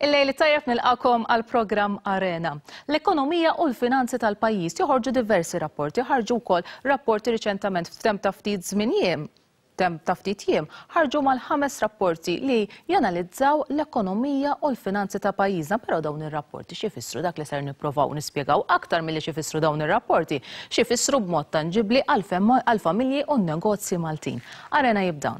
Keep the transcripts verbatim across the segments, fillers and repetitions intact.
Il-lejl tajjeb, nilqagħkom għal programm Arena. L-ekonomija u l-finanzi tal-pajjiż joħorġu diversi rapporti, ħarġu wkoll rapporti riċentament f'temp ta' ftit żmien temp ta' ftit jiem, ħarġu mal-ħames rapporti li janalizzaw l-ekonomija u l-finanzi ta' pajjiżna, però dawn ir-rapporti x'ifissru? Dak li ser nipprovaw nispjegaw, aktar milli x'ifissru dawn ir-rapporti, x'ifissru b'mod tanġibli għall-familji u n-negozji Maltin. Arena jibda.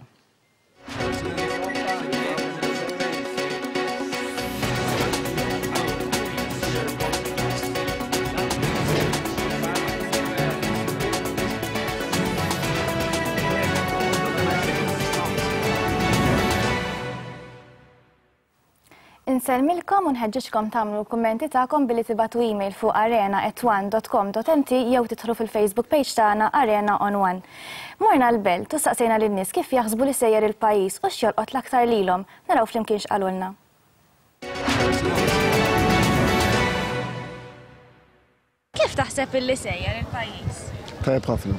Insellmilkom u nħeġġiġkom tagħmlu l-kummenti tagħkom billi tibagħtu email fuq arena at one dot com dot M T jew tidħlu fil-Facebook page tagħna Arena on One. Morna l-Belt u staqsejna lin-nies kif jaħsbu li sejjer il-pajjiż u x'jolqot l-aktar lilhom. Naraw flimkien x'qalulna. Kif taħseb illi sejjer il-pajjiż? Tajjeb ħafna.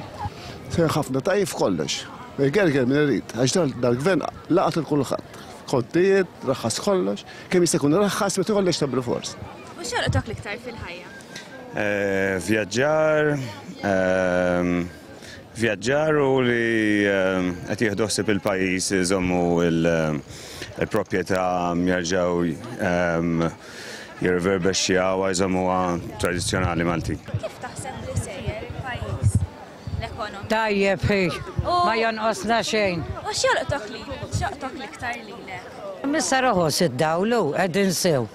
Sejjer ħafna tajjeb f'kollox. Gerger min irid, għax dal-gvern laqat lil kulħadd. Kontijiet, raħħas kollox, kemm jista' jkun raħħas, meta kollox ta' bil-fors. U x'jolqotok l-iktar fil-ħajja? Eh, vjaġġar, ehm, vjaġġar u li ehm, qed jieħdu ħsieb il-pajjiż, iżommu il-proprjetà, jerġgħu ehm, jirreverbexxjaw, jżommuha tradizzjonali Malti. Kif taħseb li sejjer il-pajjiż? L-ekonomija. Tajjeb hi, ma jonqosna xejn. U x'jolqtok li x'jolqtok l-iktar lilek? Missa roħos id-dawl, qegħdin sew.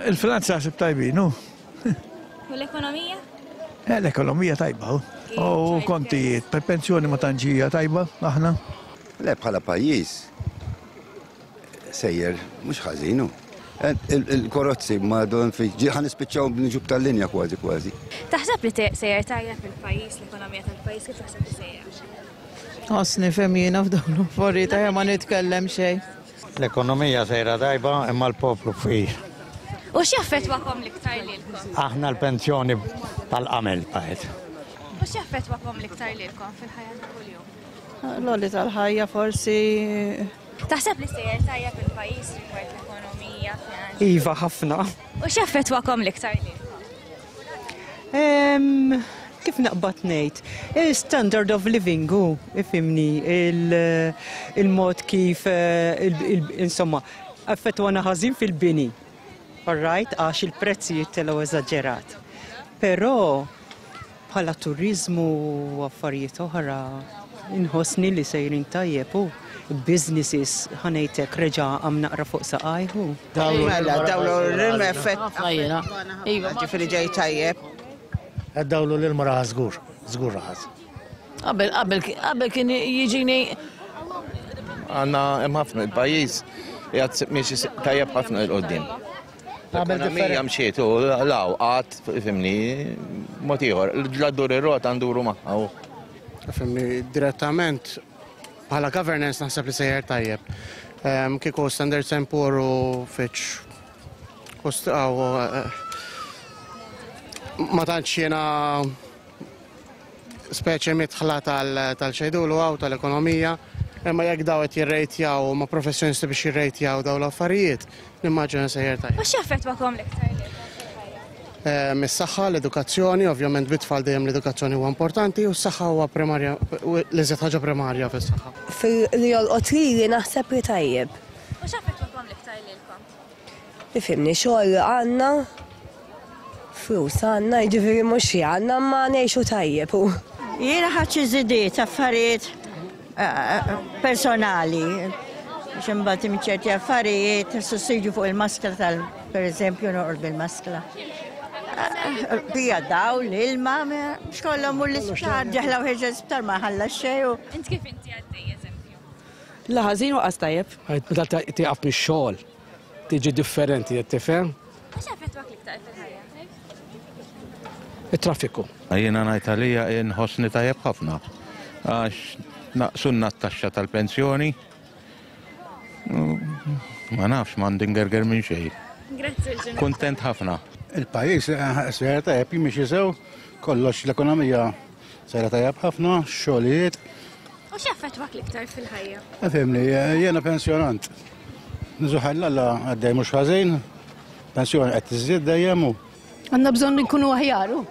Il-finanzi għasib tajbin, u. U l-ekonomija? Eh, l-ekonomija tajba, u. U kontijiet, per pensjoni ma tanġija tajba, aħna. Le, bħala pajjiż sejjer mhux ħażin hu. Il-karozzi ma don fi ħa nispiċċaw b'niġub tal-linja kważi kważi. Taħseb li te- sejjer tajjeb il-pajjiż, l-ekonomija tal-pajjiż, kif taħseb li sejjer? Għasni femjina f'dawn l-affarijiet, ejja ma nitkellem xejn. L-ekonomija sejra tajba, imma l-poplu fqir. U x'jaffettwakom l-iktar lilkom? Aħna l-pensjoni tal-qamel baqgħet. U x'jaffettwakom l-iktar lilkom fil-ħajja ta' kuljum? L-għoli tal-ħajja forsi. Taħseb li sejjer tajjeb il-pajjiż rigward l-ekonomija, finanzi? Iva, ħafna. U x'jaffettwakom l-iktar lilkom? Em, Kif naqbad ngħid? Standard of living hu, ifhimni, il- il-mod kif eh, il- il- insomma, affettwana ħażin fil-bini. All right, għax il-prezzijiet telgħu eżaġerat. Però bħala turizmu u affarijiet oħra inħossni li sejrin tajjeb u businesses, ħa ngħidlek, reġa' għam naqra fuq saqajhu. Mela, dawl l-ilma effett. Ħafna jiena. Iva. Ġifieri ġej tajjeb. Id-dawl u l-ilma raħas żgur, żgur raħas. Qabel, qabel, qabel kien jiġini Għanna hemm ħafna, il-pajjiż qiegħed miexi tajjeb ħafna 'l quddiem. L-ekonomija mxiet u law qatt, ifhimni, mod ieħor. La ddur ir-rota nduru magħha. u. Ifhimni, direttament bħala governance naħseb li sejjer tajjeb. Em, Kieku Standard and Poor u Fitch u st- aw, eh, ma tantx jiena speċi midħla tal-xejdulu għaw tal-ekonomija, imma jekk daw qed jirrejtjaw ma professjonisti biex jirrejtjaw daw l-affarijiet, nimmaġina sejjer tajjeb. U x'jaffettwakom l-iktar lilkom fil-ħajja? Eh, Is-saħħa, l-edukazzjoni, ovvjament bit-tfal dejjem l-edukazzjoni huwa importanti u s-saħħa huwa primarja, l-iżjed ħaġa primarja fis-saħħa. Fil-li jolqot lili naħseb li tajjeb. U x'jaffettwakom l-iktar lilkom? Ifhimni, xogħol għandna, flus għandna, jiġifieri mhux xi għandna, ma ngħixu tajjeb. u. Jiena ħadt xi żidiet affarijiet eh, personali. Biex imbagħad minn ċerti affarijiet, sussidju fuq il-maskla tal, per eżempju, noqgħod bil-maskla. Eh, Bija dawl, ilma, xkollhom u l-isptar, ġeħla u ħeġa l-isptar ma ħalla xejn. u- Int kif inti għaddej, eżempju? La ħażin u qas tajjeb. Meta tieqaf mix-xogħol tiġi differenti, qed tifhem? U x'jaffettwak l-iktar fil-ħajja? It-traffiku. Jiena ngħid għalija inħossni tajjeb ħafna. Għax naqsunna t-taxxa tal-pensjoni. Ma nafx, m'għandi ngerger minn xejn. Grazzi l-ġurnata. Kuntent ħafna. Il-pajjiż sejjer tajjeb, jimxi sew, kollox, l-ekonomija sejra tajjeb ħafna, xogħlijiet. U x'jaffettwak l-iktar fil-ħajja? Ifhimni, jiena pensjonant. Nżuħalla għaddej mhux ħażin. Pensjoni qed tiżdied dejjem u Għandna bżonn nkunu aħjar u.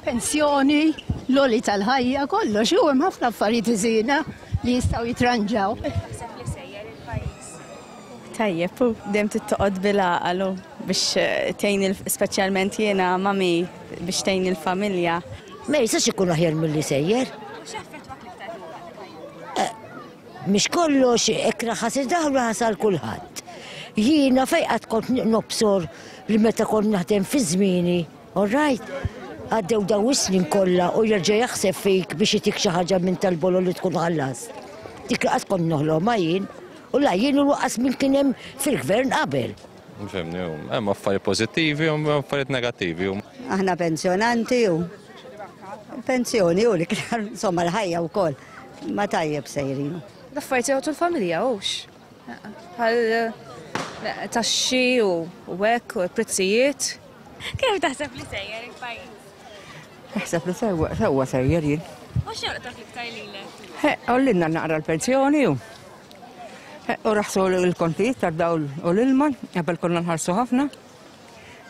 Pensjoni, l-għoli tal-ħajja, kollox, u hemm ħafna affarijiet iżina li jistgħu jitranġaw. Tajjeb, u dejjem tittoqgħod bil-għaqal u biex tgħin speċjalment jiena mami biex tgħin il-familja. Ma jistax ikun aħjar milli sejjer. Mhix kollox hekk raħas id-daħlu ħasal kulħadd. Jiena fejn qatt kont nobsor li meta kont naħdem fi żmieni, all right? Għaddew daw is-snin kollha u jerġa' jaħseb fik biex itik xi ħaġa minn tal-bolo li tkun ħallas. Dik qatt kont noħlomha jien u la jien u lanqas min kien hemm fil-gvern qabel. Fhimni, hemm affarijiet pożittivi u hemm affarijiet negattivi. Aħna pensjonanti u pensjoni u l-iktar, insomma, l-ħajja wkoll ma tajjeb sejrin. L-affarijiet jgħotu l-familja hux. Bħal taxxi u hekk u prezzijiet. Kif taħseb li sejjer il-pajjiż? Naħseb li sewwa sewwa sejjer jien. U x'jolqtok l-iktar lilek? Għollinna naqra l-pensjoni u u raħsu l-kontijiet tad-dawl u l-ilma, qabel konna nħallsu ħafna.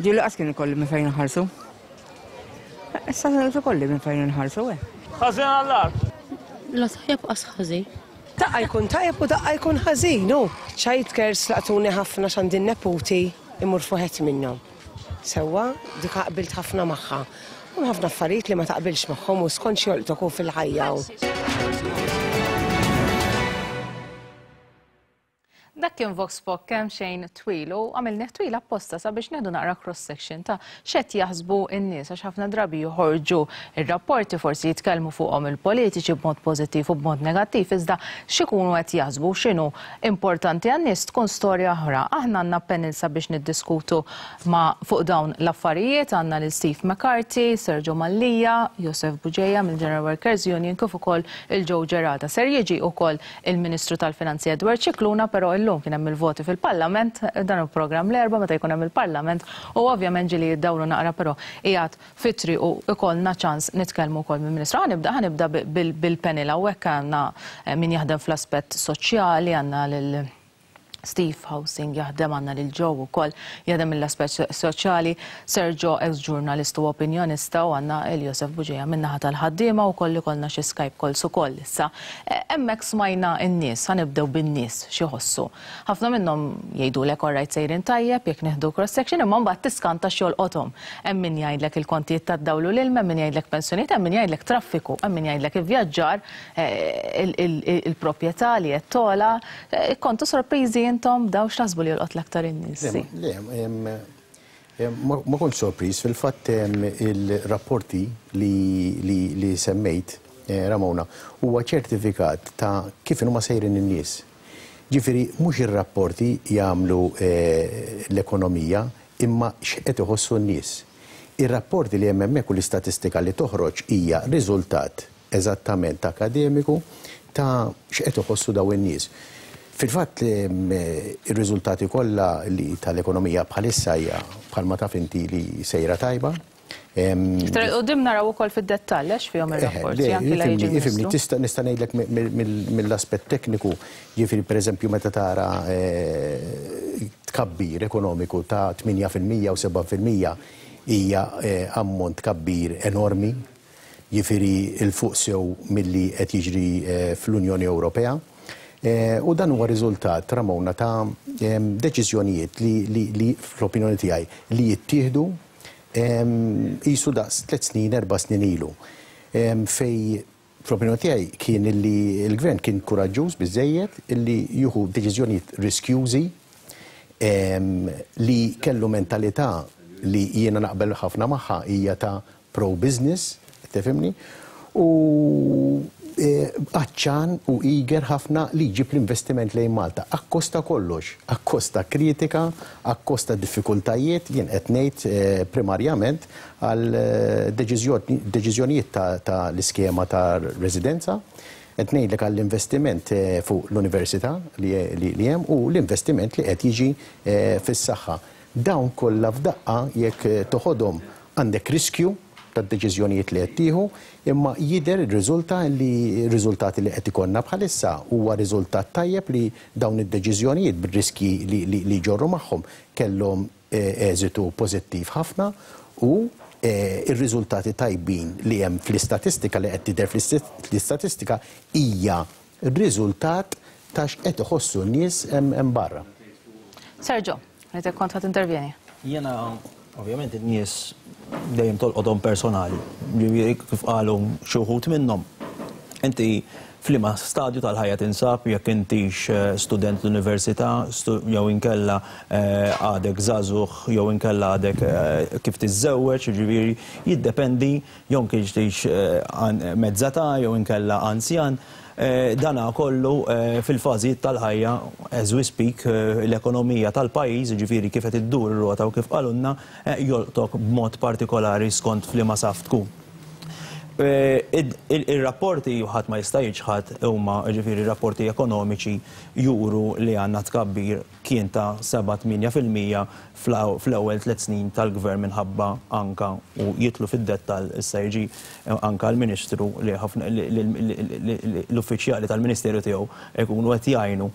Ġieli qas kien ikolli minn fejn nħallsu. Issa ikolli minn fejn nħallsu, eh. Ħażin għall-art. La tajjeb qas ħażin. Daqqa jkun tajjeb u daqqa jkun ħażin, u. Child cares laqtuni ħafna x'għandi neputi imur fuħet minnhom. Sewwa, dik qbilt ħafna magħha. U ħafna affarijiet li ma taqbilx magħhom u skont x'jolqtok hu fil-ħajja. Dak kien Vox Pop kemm xejn twil u għamilnieh twil apposta sabiex nieħdu naqra cross section ta' x'qed jaħsbu n-nies għax ħafna drabi joħorġu ir-rapporti forsi jitkellmu fuqhom il-politiċi b'mod pożittiv u b'mod negattiv iżda x'ikunu qed jaħsbu x'inhu importanti għan-nies tkun storja oħra. Aħna għandna panel sabiex niddiskutu ma' fuq dawn l-affarijiet, għandna lil Steve McCarthy, Sergio Mallia, Josef Bugeja mill-General Workers Union kif ukoll il-Joe Gerada. Ser jiġi ukoll il-Ministru tal-Finanzi Edward Scicluna, però illum kien hemm il-voti fil-Parlament, dan il-programm l-Erbgħa meta jkun hemm il-Parlament u ovvjament ġieli jiddawru naqra però qiegħed fitri u ikollna ċans nitkellmu wkoll mill-Ministru. Ħa nibda ħa nibda bil-panel hawnhekk għandna min jaħdem fl-aspett soċjali, għandna lil Steve Housing jaħdem, għandna lil Joe ukoll jaħdem mill-aspett soċjali, Sergio ex-ġurnalist u opinjonista u għandna il Josef Bugeja min-naħa tal-ħaddiema u koll ikollna xi Skype calls ukoll issa. Hemmhekk smajna n-nies, ħa nibdew bin-nies xi ħossu. Ħafna minnhom jgħidulek orajt sejrin tajjeb jekk nieħdu cross section imma mbagħad tiskanta x'jolqothom. Hemm min jgħidlek il-kontijiet tad-dawl u l-ilma, hemm min jgħidlek pensjonijiet, hemm min jgħidlek traffiku, hemm min jgħidlek ivvjaġġar, il-proprjetà li qed togħla. Kontu sorpriżi intom daw x'taħsbu li jolqot l-aktar in-nies? Le, ma kontx sorpriż, fil-fatt il-rapporti li semmejt, Ramona, huwa ċertifikat ta' kif huma sejrin in-nies. Ġifieri mhux ir-rapporti jagħmlu l-ekonomija imma x'qed iħossu n-nies. Ir-rapporti li hemm hemmhekk u l-istatistika li toħroġ hija riżultat eżattament akademiku ta' x'qed iħossu daw in-nies. Fil-fatt ir-riżultati kollha li tal-ekonomija bħalissa hija bħalma taf inti li sejra tajba. Iktar quddiem naraw ukoll fid-dettall għax fihom ir-rapporti anki la jiġi Ifhimni, tista' nista' ngħidlek mill-aspett tekniku, jiġifieri pereżempju meta tara tkabbir ekonomiku ta' tmienja fil-mija u seba' fil-mija hija ammont tkabbir enormi, jiġifieri il fuq sew milli qed jiġri fl-Unjoni Ewropea. U dan huwa riżultat, Ramona, ta' deċiżjonijiet li fl-opinjoni tiegħi li jittieħdu qisu daqs tliet snin, erba' snin ilu. Fej fl-opinjoni tiegħi kien li l-gvern kien kuraġġuż biżejjed illi jieħu deċiżjonijiet riskjużi li kellu mentalità li jiena naqbel ħafna magħha hija ta' pro-business, tifhimni, u għaċċan u eager ħafna li jġib l-investiment lejn Malta. Akkosta kollox, akkosta kritika, akkosta diffikultajiet, jien qed ngħid primarjament għal deċiżjonijiet ta' l-iskema ta' residenza, qed ngħidlek għall-investiment fuq l-università li hemm u l-investiment li qed jiġi fis-saħħa. Dawn kollha f'daqqa jekk toħodhom għandek riskju tad-deċiżjonijiet li qed tieħu, imma jidher ir-riżulta li r-riżultati li qed ikollna bħalissa huwa riżultat tajjeb li dawn id-deċiżjonijiet bir-riski li jġorru magħhom kellhom eżitu pożittiv ħafna u ir-riżultati tajbin li hemm fl-istatistika li qed tidher fl-istatistika hija r-riżultat ta' x'qed iħossu n-nies hemm barra. Sergio, rrid kont ħadd intervjeni. Jiena ovvjament in-nies dejjem tolqodhom personali, kif qalu xi wħud minnhom. Inti f'liema stadju tal-ħajja tinsab, jekk intix student l-università, jew inkella għadek żagħżugħ, jew inkella għadek kif tiżżewweġ, jiġifieri jiddependi jew kienx mezzata jew inkella anzjan. Dana kollu fil-fażijiet tal-ħajja, as we speak, l-ekonomija tal-pajjiż, jiġifieri kif qed iddur ir-rota u kif qalulna, jolqtok b'mod partikolari skont f'liema saf tkun. Il-rapporti ħadd ma jista' jiġħad huma, ġifieri rapporti ekonomiċi juru li għandna tkabbir kien ta' seba' tmienja fil-mija fl-ewwel tliet snin tal-gvern minħabba anka u jitlu fid-dettall issa jiġi anka l-Ministru li ħafna l-uffiċjali tal-Ministeru tiegħu jkunu qed jgħinu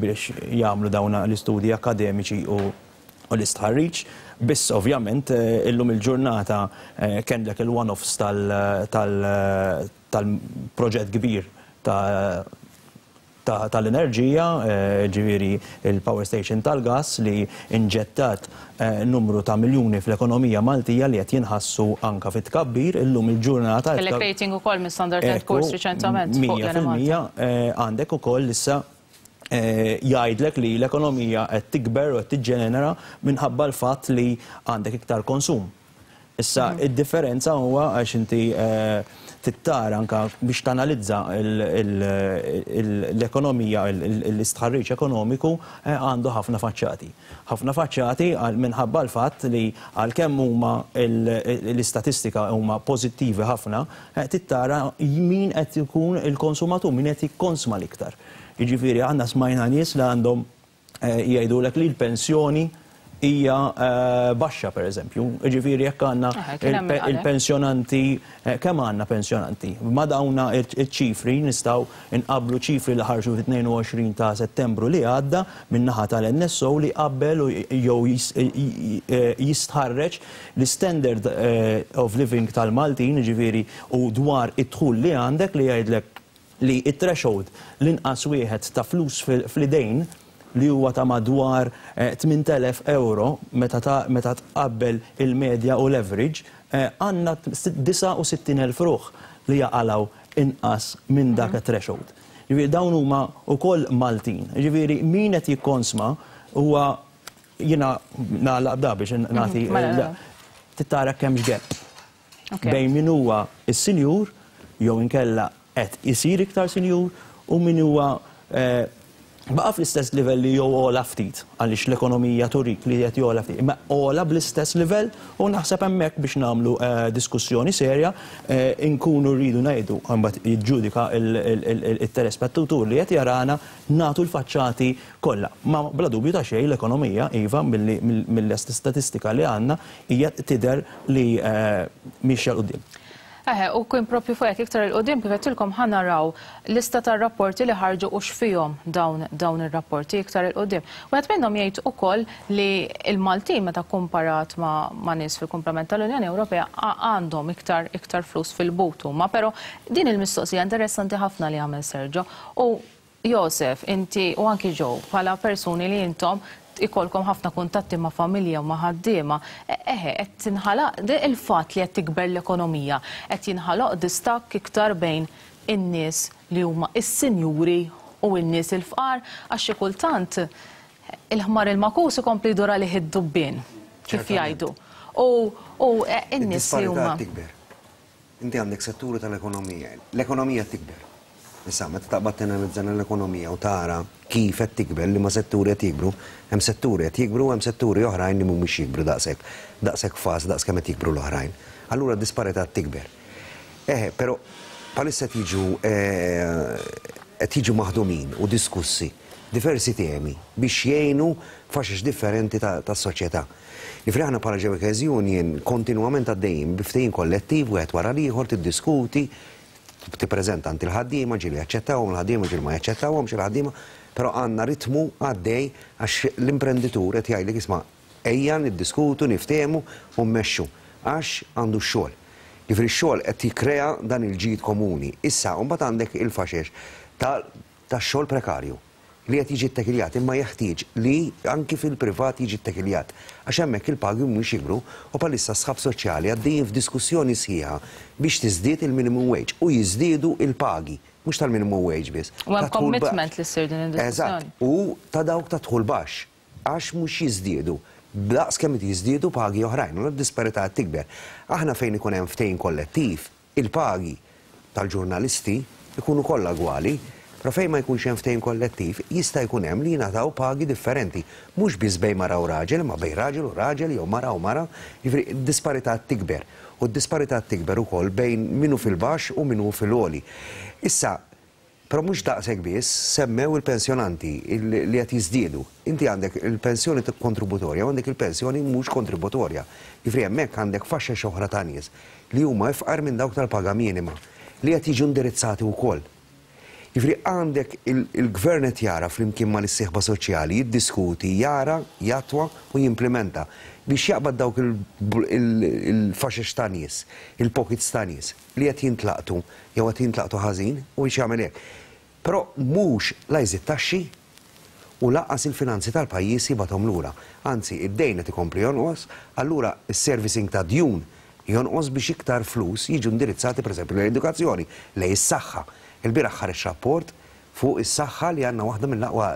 biex jagħmlu dawn l-istudji akademiċi u l-istħarriġ. Biss ovvjament illum il-ġurnata kellek il-one-offs tal-proġett kbir tal-enerġija, ġifieri il-power station tal-gas li inġettat numru ta' miljuni fl-ekonomija Maltija li qed jinħassu anka fit-tkabbir illum il-ġurnata. Kellek rating ukoll minn Standard and Poor's riċentament fuq mija fil-mija għandek ukoll issa jgħidlek li l-ekonomija qed tikber u qed tiġġenera minħabba l-fatt li għandek iktar konsum. Issa id-differenza huwa għax inti tittara anka biex tanalizza l-ekonomija, l-istħarriġ ekonomiku għandu ħafna faċċati. Ħafna faċċati minħabba l-fatt li għalkemm huma l-istatistika huma pożittivi ħafna, tittara min qed ikun il-konsumatur, min qed jikkonsma l-iktar. Jiġifieri għandna smajna nies li għandhom jgħidulek li l-pensjoni hija baxxa pereżempju. Jiġifieri jekk għandna il-pensjonanti, kemm għandna pensjonanti? Ma dawna iċ-ċifri nistgħu nqabblu ċifri li ħarġu fit-tnejn u għoxrin ta' Settembru li għadda min-naħa tal-N S O li qabel jew jistħarreġ l-standard of living tal-Maltin, jiġifieri u dwar id-dħul li għandek li jgħidlek li it-threshold l-inqas wieħed ta' flus fl-idejn li huwa ta' madwar tmien elef euro meta tqabbel il-medja u l-average, għandna disgħa u sittin elf ruħ li jaqalgħu inqas minn dak it-threshold. Ġifieri dawn huma wkoll Maltin. Ġifieri min qed jikkonsma huwa jiena nagħlaq da biex nagħti tittara kemm gap bejn min huwa s-sinjur jew inkella qed isir iktar sinjur u min huwa baqa' fl-istess livell li jew ogħla ftit għaliex l-ekonomija turik li qed jogħla ftit, imma ogħla bl-istess livell u naħseb hemmhekk biex nagħmlu diskussjoni serja inkunu rridu ngħidu mbagħad jiġġudika il-telespettatur li qed jarana nagħtu l-faċċati kollha. Ma bla dubju ta' xejn l-ekonomija iva mill-istatistika li għandna hija tidher li mixja 'l quddiem. Eħe, u kien propju fuq hekk iktar il-qudiem kif qedtilkom ħa naraw lista tar-rapporti li ħarġu u x'fihom dawn dawn ir-rapporti iktar il-qudiem. Wieħed minnhom jgħid ukoll li l-Maltin meta komparat ma', ma' nies fil-kumplament tal-Unjoni Ewropea għandhom iktar iktar flus fil-but huma, però din il-mistoqsija interessanti ħafna li għamel Sergio. U Josef, inti u anki Joe, bħala persuni li intom ikolkom ħafna kuntatti ma' familja u ma' ħaddiema, eħe, qed tinħalaq il-fatt li qed tikber l-ekonomija, qed jinħaloq distakk iktar bejn in-nies li huma is-sinjuri u n-nies il-fqar, għax xi kultant il-ħmar il-makus ikompli jdur għalih id-dubbien, kif jgħidu. U n-nies li huma. Tikber. Inti għandek setturi tal-ekonomija. L-ekonomija tikber. Issa, meta taqbad tanalizza l-ekonomija u tara kif qed tikber, li ma setturi qed jikbru, hemm setturi qed jikbru, hemm setturi oħrajn li mhumiex jikbru daqshekk, daqshekk fast, daqs kemm qed jikbru l-oħrajn. Allura d-disparità tikber. Eħe, però bħalissa qed jiġu qed jiġu maħdumin u diskussi diversi temi biex jgħinu faxex differenti tas-soċjetà. Ġifieri aħna bħala Workers Union kontinwament għaddejjin bi ftehim kollettiv wieħed wara l-ieħor tiddiskuti, tippreżenta għand il-ħaddiema, ġieli jaċċettawhom il-ħaddiema, ġieli ma jaċċettawhomx il-ħaddiema, però għandna ritmu għaddej għax l-imprenditur qed jgħidlek isma' Ejja niddiskutu, niftehmu u mmexxu għax għandu x-xogħol. Jiġifieri x-xogħol qed jikkrea dan il-ġid komuni. Issa mbagħad għandek il-faxex tax-xogħol prekarju li qed jiġi ttekiljat, imma jeħtieġ li anki fil-privat jiġi ttekiljat. Għax hemmhekk il-pagi mhux jikbru u bħalissa s-sħab soċjali għaddejjin f'diskussjoni sħiħa biex tiżdied il-minimum wage u jiżdiedu il-pagi, mhux tal-minimum wage biss. U hemm commitment li ssir din id-diskussjoni. Eżatt, u ta' dawk ta' dħul baxx, għax mhux jiżdiedu. Daqs kemm jiżdiedu pagi oħrajn, u d-disparità tikber. Aħna fejn ikun hemm ftehim kollettiv, il-pagi tal-ġurnalisti ikunu kollha gwali, però fejn ma jkunx hemm ftehim kollettiv jista' jkun hemm li jingħataw pagi differenti, mhux biss bejn mara u raġel, imma bejn raġel u raġel jew mara u mara, jiġifieri d-disparità tikber. U d-disparità tikber ukoll bejn min hu fil-baxx u min hu fil-għoli. Issa, però mhux daqshekk biss, semmew il-pensjonanti li qed jiżdiedu. Inti għandek il-pensjoni kontributorja u għandek il-pensjoni mhux kontributorja. Jiġifieri hemmhekk għandek faxxa oħra ta' nies li huma ifqar minn dawk tal-paga minima li qed jiġu indirizzati wkoll. Jiġifieri għandek il-gvern qed jara flimkien mal-issieħba soċjali, jiddiskuti, jara, jattwa u jimplementa biex jaqbad dawk il-faxex ta' nies, il-pockets ta' nies li qed jintlaqtu jew qed jintlaqtu ħażin u biex jagħmel hekk. Però mhux la jżid taxxi u lanqas il-finanzi tal-pajjiż jibgħathom lura. Anzi, id-dejn qed ikompli jonqos, allura s-servicing ta' djun jonqos biex iktar flus jiġu indirizzati pereżempju lejn l-edukazzjoni, lejn is-saħħa. Il-bieraħ ħareġ rapport fuq is-saħħa li għandna waħda mill-aqwa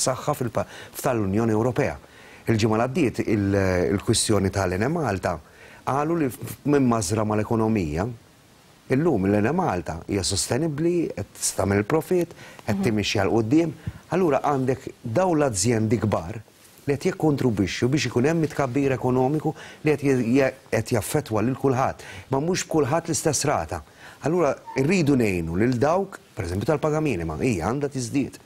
saħħa tal-Unjoni Ewropea. Il-ġimgħa l-għaddiet il-kwistjoni tal-Enemalta qalu li minn mażra mal-ekonomija, illum l-Enemalta hija sostenibbli, qed tagħmel il-profit, qed timixi għal quddiem. Allura għandek dawn l-azjendi kbar li qed jikkontribwixxu biex ikun hemm tkabbir ekonomiku li qed jaffettwa lil kulħadd, ma mhux b'kulħadd l-istess rata. Allura rridu ngħinu lil dawk, pereżempju tal-paga minima, hija għandha tiżdied.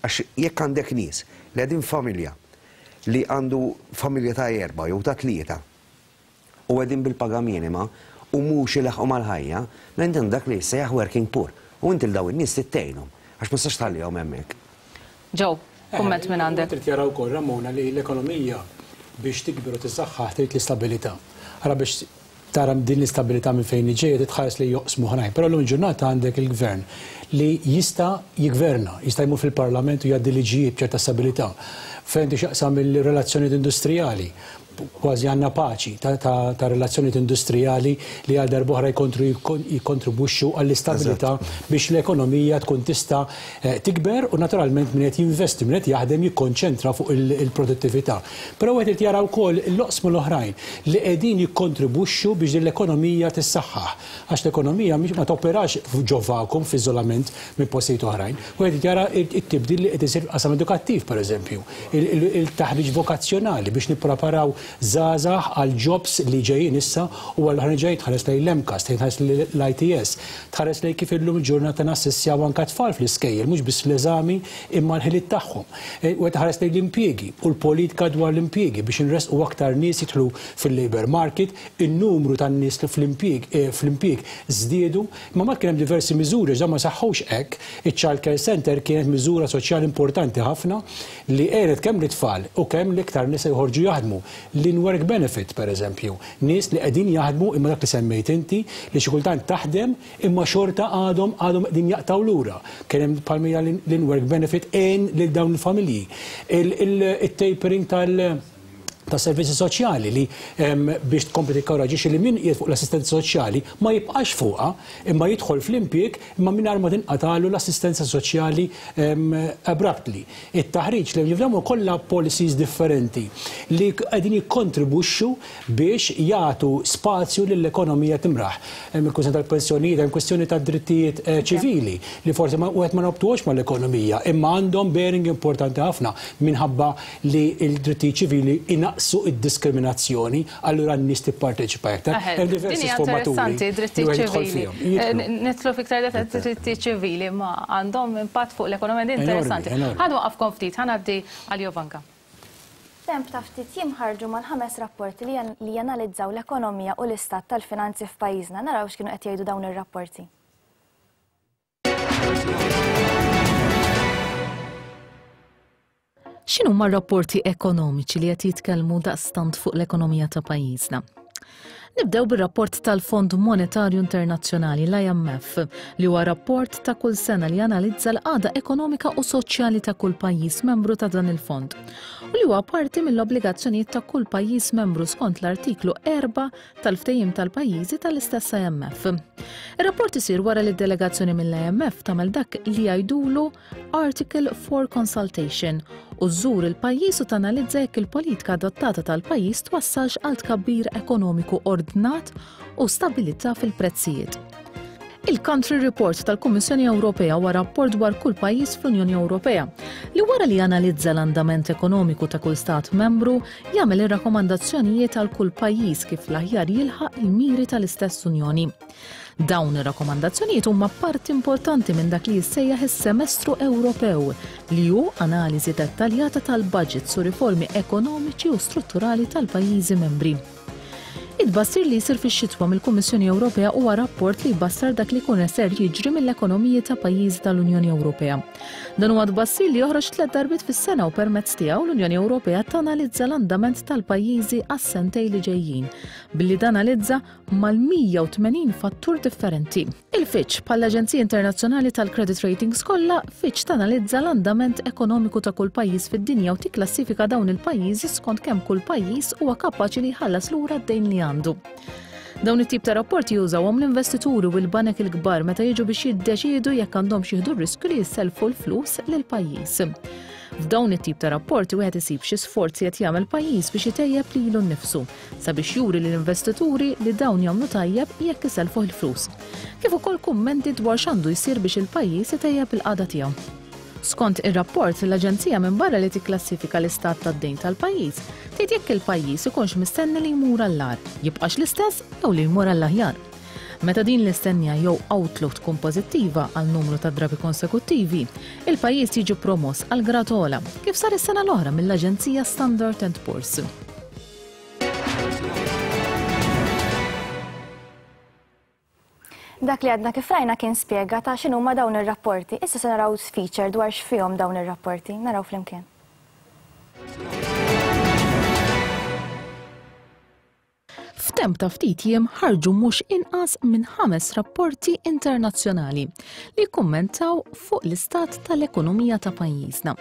Għax jekk għandek nies li qegħdin familja li għandu familja ta' erba' jew ta' tlieta u qegħdin bil-paga minima u mhux ilaħqu mal-ħajja, mela inti dak li jissejjaħ working poor. U inti l daw in-nies tittejnhom għax ma tistax tħallihom hemmhekk. Joe, kumment minn għandek. Trid jaraw ukoll Ramona li l-ekonomija biex tikber u tissaħħaħ trid l-istabilità. Ara biex tara din l-istabilità minn fejn ġejja titħares li joqsmu ħrajn. Però llum il-ġurnata għandek il-gvern li jista' jigverna, jista' jmur fil-parlament u jgħaddi liġijiet b'ċerta stabilità. Fejn tixaqsam il-relazzjonijiet industrijali, kważi għandna paċi ta' relazzjonijiet industrijali li għal darb'oħra jikkontribwixxu għall-istabilità biex l-ekonomija tkun tista' tikber u naturalment min qed jinvesti, min qed jaħdem jikkonċentra fuq il-produttività. Però wieħed irid jara wkoll l-oqsmu l-oħrajn li qegħdin jikkontribwixxu biex din l-ekonomija tissaħħaħ. Għax l-ekonomija ma toperax ġo vacuum f'iżolament minn postijiet oħrajn. Wieħed irid jara t-tibdil li qed isir f'qasam edukattiv pereżempju, il-taħriġ vokazzjonali biex nippreparaw żgħażagħ għal jobs li ġejjin issa u għal oħrajn ġejjin tħares lejn l-M C A S, tħares lejn l-I T S, tħares lejn kif illum il-ġurnata nassissjaw anke tfal fl-iskejjel, mhux biss l-eżami imma l-ħiliet tagħhom. U tħares lejn l-impjiegi u l-politika dwar l-impjiegi biex inresqu aktar nies jidħlu fil-labor market, in-numru tan-nies fl-impjieg fl-impjieg żdiedu, imma ma kien hemm diversi miżuri ġa ma saħħux hekk. Iċ-Child Care Center kienet miżura soċjali importanti ħafna li għenet kemm l-tfal u kemm l-iktar nies joħorġu jaħdmu. L-in-work benefit, per eżempju, nies li qegħdin jaħdmu imma dak li semmejt inti li xi kultant taħdem imma xorta għadhom għadhom qegħdin jaqtaw lura. Kien hemm palmija l-in-work benefit għen lil dawn il-familji. Il-tapering tal- ta' servizzi soċjali li biex tkompli tikkoraġixxi li min qiegħed fuq l-assistenza soċjali ma jibqax fuqha imma jidħol fl-impjieg imma mingħajr ma tinqatalu l-assistenza soċjali abruptly. It-taħriġ li jifhmu kollha policies differenti li qegħdin jikkontribwixxu biex jagħtu spazju lill-ekonomija timraħ. Hemm il-kwistjoni tal-pensjonijiet, hemm kwistjoni tad-drittijiet eh, ċivili li forsi ma wieħed ma nobtuhx mal-ekonomija imma għandhom bearing importanti ħafna minħabba li l-drittijiet ċivili inaqsu id-diskriminazzjoni, allura n-nies tipparteċipa iktar. Hemm diversi sfumaturi. Drittijiet ċivili. Eh, nidħlu fiktar drittijiet ċivili ma għandhom impatt fuq l-ekonomija, interessanti. Ħa nwaqafkom ftit, ħa ngħaddi għal Jovanka. Temp ta' ftit jiem ħarġu mal-ħames rapporti li janalizzaw l-ekonomija u l-istat tal-finanzi f'pajjiżna. Naraw x'kienu qed jgħidu dawn ir-rapporti. X'inhuma r-rapporti ekonomiċi li qed jitkellmu daqstant fuq l-ekonomija ta' pajjiżna? Nibdew bir-rapport tal-Fond Monetarju Internazzjonali, l I M F, li huwa rapport ta' kull sena li analizza l-qagħda ekonomika u soċjali ta' kull pajjiż membru ta' dan il-fond. U li huwa parti mill-obbligazzjonijiet ta' kull pajjiż membru skont l-artiklu erbgħa tal-ftehim tal-pajjiżi tal-istess I M F. Ir-rapport isir wara li d-delegazzjoni mill-I M F tagħmel dak li jgħidulu Article four Consultation u żżur il-pajjiż u tanalizza jekk il-politika adottata tal-pajjiż twassalx għal tkabbir ekonomiku ordnat u stabilità fil-prezzijiet. Il-Country Report tal-Kummissjoni Ewropea huwa rapport dwar kull pajjiż fl-Unjoni Ewropea li, wara li analizza l-andament ekonomiku ta' kull stat membru, jagħmel ir-rakkomandazzjonijiet għal kull pajjiż kif l-aħjar jilħaq il-miri tal-istess Unjoni. Dawn ir-rakkomandazzjonijiet huma parti importanti minn dak li jissejjaħ is-Semestru Ewropew, li hu analiżi dettaljata tal-budgets u riformi ekonomiċi u strutturali tal-pajjiżi membri. It-tbassir li jsir fix-xitwa mill-Kummissjoni Ewropea huwa rapport li jbassar dak li jkun ser jiġri mill-ekonomiji ta' pajjiżi tal-Unjoni Ewropea. Dan huwa tbassir li joħroġ tliet darbiet fis-sena u permezz tiegħu l-Unjoni Ewropea tanalizza l-andament tal-pajjiżi għas-sentej li ġejjin billi tanalizza mal-mija u tmenin fattur differenti. Il-Fitch, bħall-Aġenzija Internazzjonali tal-Credit Ratings kollha, Fitch tanalizza l-andament ekonomiku ta' kull pajjiż fid-dinja u tikklassifika dawn il-pajjiżi skont kemm kull pajjiż huwa kapaċi li jħallas lura d-dejn li għandu. Dawn it-tip ta' rapporti jużawhom l-investituri u l-banek il-kbar meta jiġu biex jiddeċiedu jekk għandhom jieħdu r-riskju li jisselfu l-flus lil pajjiż. F'dawn it-tip ta' rapporti wieħed isib xi sforzi qed jagħmel pajjiż biex itejjeb lilu nnifsu sabiex juri lill-investituri li dawn jagħmlu tajjeb jekk iselfuh il-flus. Kif ukoll kummenti dwar x'għandu jsir biex il-pajjiż itejjeb il-qagħda tiegħu. Skont ir-rapport, l-Aġenzija, minn barra li tikklassifika l-istat tad-dejn tal-pajjiż, tgħid jekk il-pajjiż ikunx mistenni li jmur għall-agħar, jibqax l-istess jew li jmur għall-aħjar. Meta din l-istennija jew outlook tkun pożittiva għal numru ta' drabi konsekuttivi, il-pajjiż jiġi promoss għal grad ogħla, kif sar is-sena l-oħra mill-Aġenzija Standard and Poor's. Dak li għadna kif rajna kien spjega ta' x'inhuma dawn ir-rapporti. Issa se naraw feature dwar x'fihom dawn ir-rapporti. Naraw flimkien. F'temp ta' ftit jiem ħarġu mhux inqas minn ħames rapporti internazzjonali li kummentaw fuq l-istat tal-ekonomija ta' pajjiżna.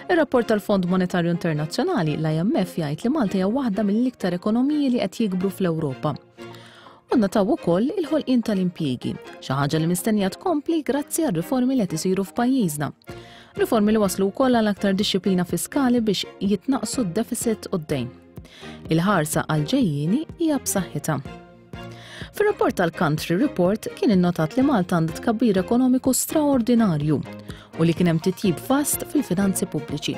Ir-rapport tal-Fond Monetarju Internazzjonali, l I M F, jgħid li Malta hija waħda mill-iktar ekonomiji li qed jikbru fl-Ewropa. U nnotaw ukoll il-ħolqien tal-impjiegi, xi ħaġa li mistennija tkompli grazzi għal riformi li qed isiru f'pajjiżna. Riformi li waslu wkoll għal aktar dixxiplina fiskali biex jitnaqsu d-deficit u d-dejn. Il-ħarsa għal-ġejjini hija b'saħħitha. Fir-rapport tal-Country Report kien innotat li Malta għandha tkabbir ekonomiku straordinarju u li kien hemm titjib vast fil-finanzi pubbliċi.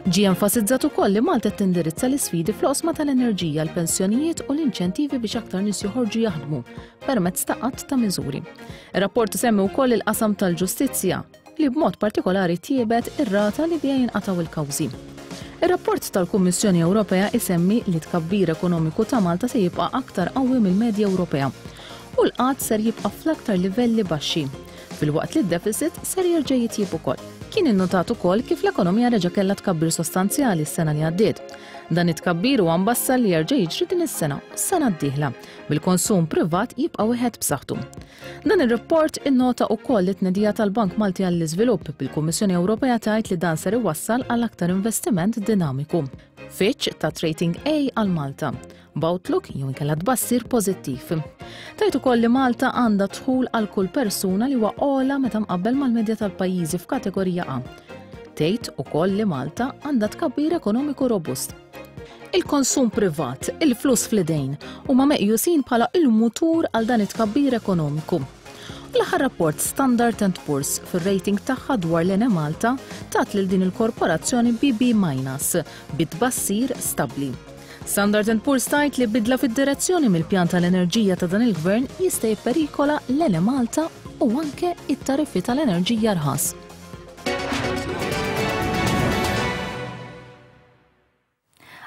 Ġie enfasizzat ukoll li Malta tindirizza l-isfidi fl-oqsma tal-enerġija, l-pensjonijiet u l-inċentivi biex aktar nies joħorġu jaħdmu permezz ta' għadd ta' miżuri. Ir-rapport isemmi wkoll il-qasam tal-ġustizzja, li b'mod partikolari tjiebet ir-rata li biha jinqataw il-kawżi. Ir-rapport tal-Kummissjoni Ewropea isemmi li tkabbir ekonomiku ta' Malta se jibqa' aktar qawwi mill-medja Ewropea u l-qgħad ser jibqa' fl-aktar livelli baxxi, filwaqt li d-deficit ser jerġa' jitjib ukoll. Kien innotat ukoll kif l-ekonomija reġa' kellha tkabbir sostanzjali s-sena li għaddiet. Dan it-tkabbir huwa mbassar li jerġa' jiġri din is-sena u s-sena d-dieħla, bil-konsum privat jibqa' wieħed b'saħħtu. Dan ir-rapport innota wkoll it-tnedija tal-Bank Malti għall-Iżvilupp, bil-Kummissjoni Ewropea tgħid li dan ser iwassal għal aktar investiment dinamiku. Fitch tat rating A għal Malta, b'outlook jew inkella tbassir pożittiv. Tgħid ukoll li Malta għandha dħul għal kull persuna li huwa ogħla meta mqabbel mal-medja tal-pajjiżi f'kategorija A. Tgħid ukoll li Malta għandha tkabbir ekonomiku robust. Il-konsum privat, il-flus fl-idejn, huma meqjusin bħala il-mutur għal dan it-tkabbir ekonomiku. L-aħħar rapport, Standard and Poor's fir-rating tagħha dwar l-Enemalta tat lil din il-korporazzjoni B B minus bit-tbassir stabbli. Standard and Poor's tgħid li bidla fid-direzzjoni mill-pjan tal-enerġija ta' dan il-gvern jista' jipperikola l-Enemalta u anke it-tariffi tal-enerġija rħas.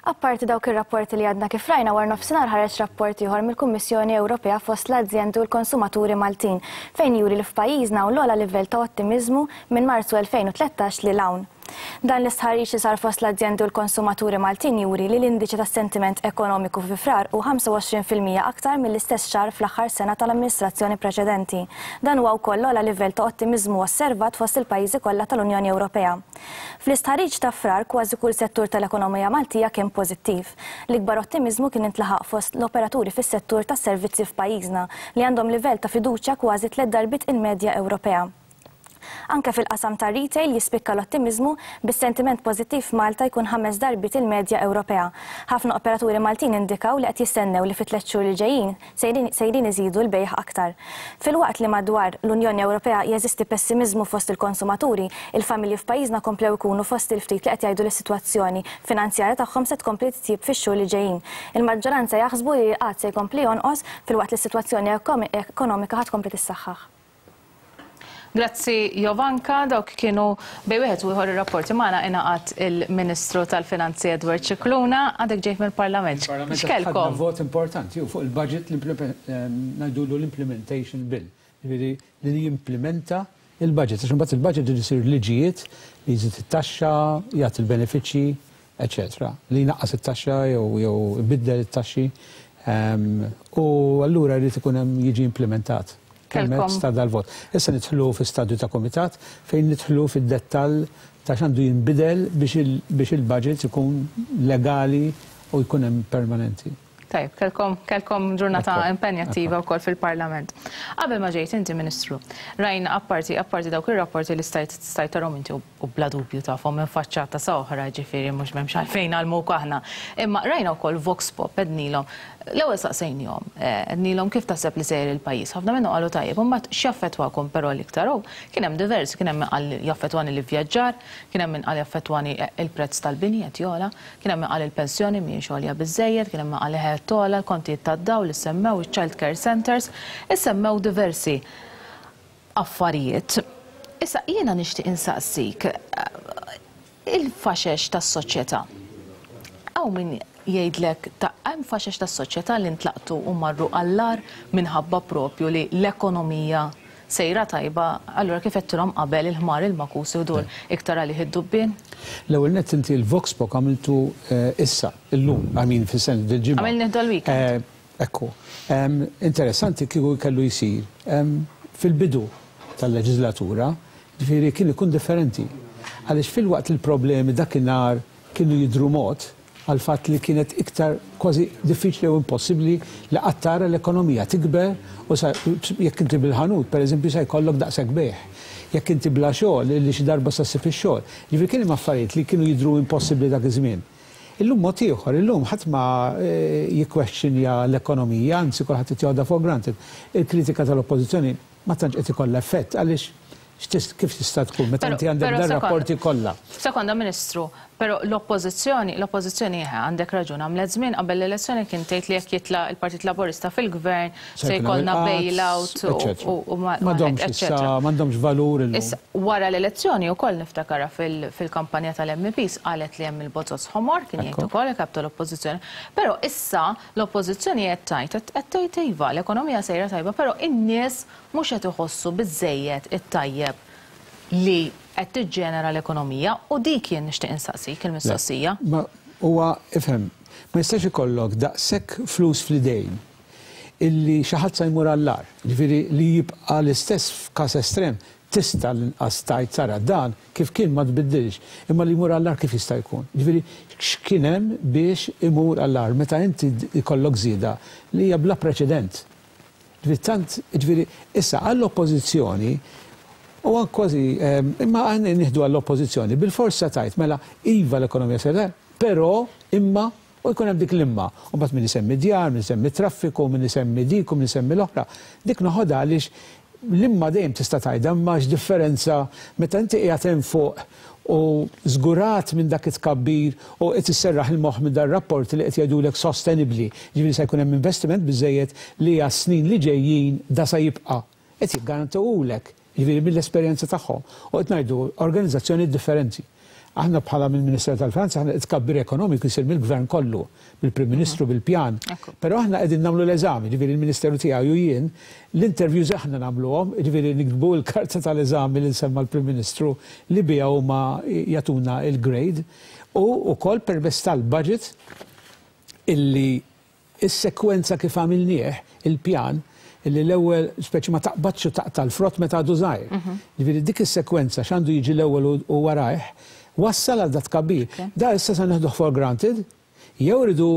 Apparti dawk ir-rapporti li għadna kif rajna, war nofsinhar ħareġ rapport ieħor mill-Kummissjoni Ewropea fost l-azjendi u l-konsumaturi Maltin, fejn juri li f'pajjiżna hawn l-ogħla livell ta' ottimiżmu minn Marzu elfejn u tlettax lil hawn. Dan l-istħarriġ li sar fost l-azjendi u l-konsumaturi Maltin juri li l-indiċi tas-sentiment ekonomiku fi Frar hu ħamsa u għoxrin fil-mija aktar mill-istess xahar fl-aħħar sena tal-amministrazzjoni preċedenti. Dan huwa wkoll l-ogħla livell ta' ottimiżmu osservat fost il-pajjiżi kollha tal-Unjoni Ewropea. Fl-istħarriġ ta' Frar kważi kull settur tal-ekonomija Maltija kien pożittiv. L-ikbar ottimiżmu kien intlaħaq fost l-operaturi fis-settur tas-servizzi f'pajjiżna li għandhom livell ta' fiduċja kważi tliet darbiet il-medja Ewropea. Anke fil-qasam ta' retail jispikka l-ottimiżmu bis-sentiment pożittiv f'Malta jkun ħames darbiet il-medja Ewropea. Ħafna operaturi Maltin indikaw li qed jistennew li fi tliet xhur li ġejjin sejrin iżidu l-bejgħ aktar. Filwaqt li madwar l-Unjoni Ewropea jeżisti pessimiżmu fost il-konsumaturi, il-familji f'pajjiżna komplew ikunu fost il-ftit li qed jgħidu li s-sitwazzjoni finanzjarja tagħhom se tkompli titjib fix-xhur li ġejjin. Il-maġġoranza jaħsbu li l-qgħad se jkompli jonqos filwaqt li s-sitwazzjoni ekonomika ħa tkompli tissaħħaħ. Grazzi Jovanka, dawk kienu bej wieħed u ieħor ir-rapporti magħna ingħaqad il-Ministru tal-Finanzi Edward Scicluna, għadek ġejt mill-Parlament. X'kelkom? Vot importanti fuq il-budget ngħidulu l-implementation bill, jiġifieri li jimplementa il-budget, għax imbagħad il-budget irid isir liġijiet li jżid it-taxxa, jagħti l-benefiċċji, eċetera, li jnaqqas it-taxxa jew ibiddel it-taxxi, u allura jrid ikun hemm jiġi implementat. Permezz ta' dal-vot. Issa nidħlu fi stadju ta' komitat fejn nidħlu fid-dettall ta' x'għandu jinbidel biex il-budget ikun legali u jkun hemm permanenti. Tajb, kelkom, kelkom ġurnata impenjattiva wkoll fil-Parlament. Qabel ma ġejt inti Ministru, rajna apparti, apparti dawk ir-rapporti li stajt stajt tarhom inti u bla dubju tafhom minn faċċata sa oħra, ġifieri mhux m'hemmx għalfejn għalmuk aħna. Imma rajna wkoll Vox Pop ednilhom. L-ewwel saqsejnihom, ednilhom kif taħseb li sejjer il-pajjiż. Ħafna minnhom qalu tajjeb, imbagħad x'jaffettwakom però l-iktar hu kien hemm diversi, kien hemm min qal jaffettwani l-ivvjaġġar, kien hemm min qal jaffettwani il-prezz tal-bini qed jogħla, kien hemm min qal il-pensjoni mhijiex għolja biżżejjed, kien hemm min qal qed togħla, l-kontijiet tad-dawl li semmew, iċ-child care centers, issemmew diversi affarijiet. Issa jiena nixtieq insaqsik il-faxex tas-soċjetà. Hawn min jgħidlek ta' hemm faxex tas-soċjetà li ntlaqtu u marru għall-agħar minħabba propju li l-ekonomija sejra tajba, allura kif qedtilhom qabel il-ħmar il-makus idur iktar għalih id-dubbien? L-ewwel nett inti l-Vox Pop għamiltu issa, illum, għamin fis-sens dil-ġimgħa. Għamilni dal-weekend. Ekku. Interessanti kieku kellu jsir fil-bidu tal-leġislatura, ġifieri kien ikun differenti. Għaliex fil-waqt il-problemi dakinhar kienu jidhru mod għal fatt li kienet iktar kważi diffiċli u impossibbli li qatt tara l-ekonomija tikber u jekk inti bil-ħanut, pereżempju, se jkollok daqshekk bejgħ. Jekk inti bla xogħol li xi darba sa ssib ix-xogħol. Ġifieri kien hemm affarijiet li kienu jidhru impossibbli dak iż-żmien. Illum mod ieħor, illum ħadd ma jikkwestjonja l-ekonomija, anzi kulħadd qed joħodha for granted. Il-kritika tal-oppożizzjoni ma tantx qed ikollha effett għaliex kif tista' tkun meta inti għandek dan rapporti kollha. Sekonda Ministru, però l-oppożizzjoni, l-oppożizzjoni għandek raġun għamlet żmien qabel l-elezzjoni kien tgħid li jekk jitla' il-Partit Laburista fil-Gvern se jkollna bailout u m'għandhomx issa m'għandhomx valur illum. Issa wara l-elezzjoni wkoll niftakarha fil-kampanja tal-M Ps qalet li hemm il-bozoz ħomor kien jgħid ukoll il-kap tal-oppożizzjoni. Però issa l-oppożizzjoni qed tgħid qed tgħid iva l-ekonomija sejra tajba, però in-nies mhux qed iħossu biżżejjed it-tajjeb li qed tiġġenera l-ekonomija u dik jien nixtieq insaqsik il-mistoqsija. Ma huwa ifhem, ma jistax ikollok daqshekk flus fl-idejn illi xi ħadd se jmur għall-agħar, ġifieri li jibqa' l-istess f'każ estrem tista' l-inqas tgħid tara dan kif kien ma tbiddilx, imma li jmur għall-agħar kif jista' jkun. Ġifieri x'kien hemm biex imur għall-agħar meta inti jkollok żieda li hija bla preċedent. Ġifieri tant, ġifieri issa għall-oppożizzjoni u kważi, imma aħna nieħdu għall-oppożizzjoni bil-forsa tajt mela iva l-ekonomija sejra, però imma u jkun hemm dik l-imma. U mbagħad min isemmi djar, min isemmi traffiku, min isemmi dik u min isemmi l-oħra. Dik noħodha għaliex l-imma dejjem tista' tgħidha imma x'differenza meta inti qiegħed hemm fuq u żgurat minn dak it-tkabbir u qed isserraħ il-moħħ minn dan rapport li qed jgħidulek sostenibbli. Ġifieri se jkun hemm investiment biżejjed li għas-snin li ġejjin da se jibqa'. Qed jiggarantihulek, ġifieri mill-esperjenza tagħhom. U qed ngħidu organizzazzjoni differenti. Aħna bħala mill-Ministeru tal-Finanzi, aħna tkabbir ekonomiku jsir mill-Gvern kollu, bil-Prim Ministru, bil-pjan. Però aħna qegħdin nagħmlu l-eżami, ġifieri il-Ministeru tiegħu u jien, l-interviews aħna nagħmluhom, ġifieri niktbu l-karta tal-eżami li nsemma l-Prim Ministru li biha huma jagħtuna il-grade u wkoll permezz tal-budget illi is-sekwenza kif għamilnieh il-pjan illi l-ewwel speċi ma taqbadx u taqta' l-frott meta għadu żgħir. Ġifieri dik is-sekwenza x'għandu jiġi l-ewwel u warajh wassal għal dat tkabbir. Da issa se neħduh for granted, jew rridu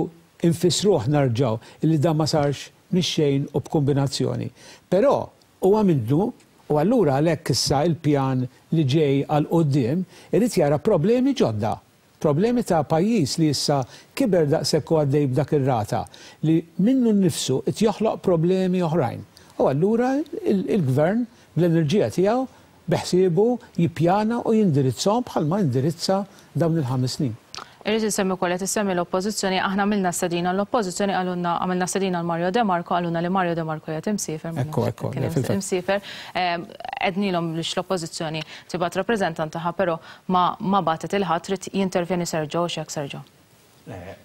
nfissruh narġaw illi da ma sarx mix-xejn u b'kombinazzjoni. Però huwa minnu u allura għalhekk issa il-pjan li ġej għal quddiem irid jara problemi ġodda. Problemi ta' pajjiż li issa kiber daqshekk u għaddej b'dak ir-rata li minnu nnifsu qed joħloq problemi oħrajn. U allura il-gvern bl-enerġija tiegħu beħsiebu jippjana u jindirizzhom bħalma indirizza dawn il-ħames snin. Irrid insemmi wkoll qed issemmi l-Oppożizzjoni, aħna għamilna stedina l-Oppożizzjoni, qalulna għamilna stedina l Mario De Marco, qalulna li Mario De Marco qiegħed imsiefer. Ekku, ekku, imsiefer. Għednilhom biex l-Oppożizzjoni tibgħat rappreżentant tagħha, però ma ma bagħtet il-ħadd. Trid jintervjeni Sergio, x'hekk Sergio?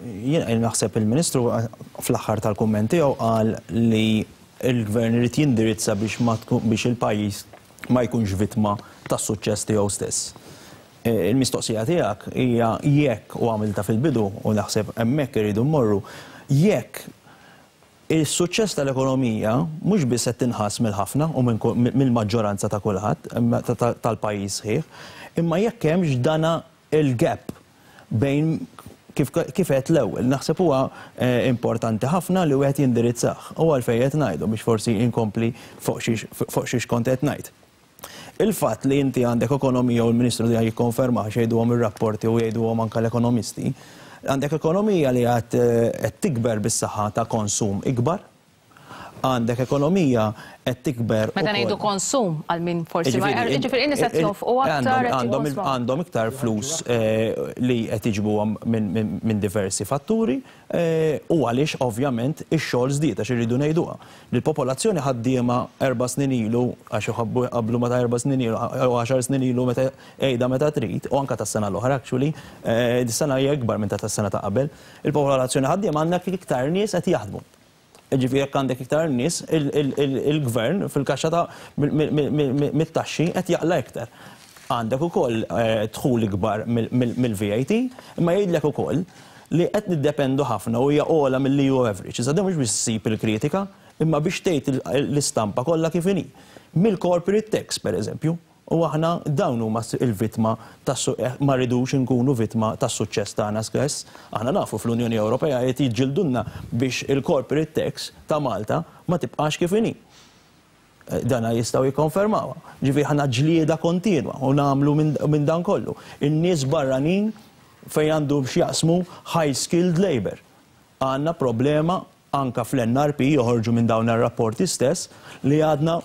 Jien naħseb il-Ministru fl-aħħar tal-kumment tiegħu qal li l-Gvern irid jindirizza biex biex il-pajjiż ma jkunx vittma tas-suċċess tiegħu stess. Il-mistoqsija tiegħek hija jekk, u għamilta fil-bidu u naħseb hemmhekk iridu mmorru, jekk is-suċċess tal-ekonomija mhux biss qed tinħass mill-ħafna u mill-maġġoranza ta' kulħadd tal-pajjiż sħiħ, imma jekk hemmx dana il-gap bejn kif qed l-ewwel. Naħseb huwa importanti ħafna li wieħed jindirizzah u għalfejn qed ngħidu biex forsi inkompli fuq xiex kont qed ngħid. Il-fatt li inti għandek ekonomija u l-Ministru li jikkonferma xejduhom ir-rapporti u jgħiduhom anke l-ekonomisti, għandek ekonomija li qed tikber bis-saħħa ta' konsum ikbar, għandek ekonomija qed tikber. Meta ngħidu konsum għal min forsi ma jiġifieri in-nies qed jonfqu aktar, għandhom iktar flus li qed jiġbuhom minn diversi fatturi u għaliex ovvjament ix-xogħol żdied għax irridu ngħiduha. L-popolazzjoni ħaddiema erba' snin ilu għax iħobbu qablu meta erba' snin ilu jew għaxar snin ilu meta qiegħda meta trid u anke tas-sena l-oħra actually, dis-sena hija ikbar minn ta' tas-sena ta' qabel. Il-popolazzjoni ħaddiema għandek iktar nies qed jaħdmu. Ġifieri jekk għandek iktar nies, il-gvern fil-kaxxa ta' mit-taxxi qed jaqla' iktar. Għandek ukoll dħul ikbar mill-V A T, imma jgħidlek ukoll li qed niddependu ħafna u hija ogħla mill-E U average. Iżda mhux biex issib il-kritika, imma biex tgħid l-istampa kollha kif inhi. Mill-corporate tax pereżempju, u aħna dawn huma il-vittma tas-suq, ma rridux inkunu vittma tas-suċċess tagħna stess. Aħna nafu fl-Unjoni Ewropea qed jiġġildunna biex il-corporate tax ta' Malta ma tibqax kif inhi. Dana jistgħu jikkonfermawha. Ġifieri aħna ġlieda kontinwa u nagħmlu minn dan kollu. In-nies barranin fejn għandhom x'jaqsmu high skilled labor. Għandna problema anka fl-N R P joħorġu minn dawn ir-rapporti stess li għadna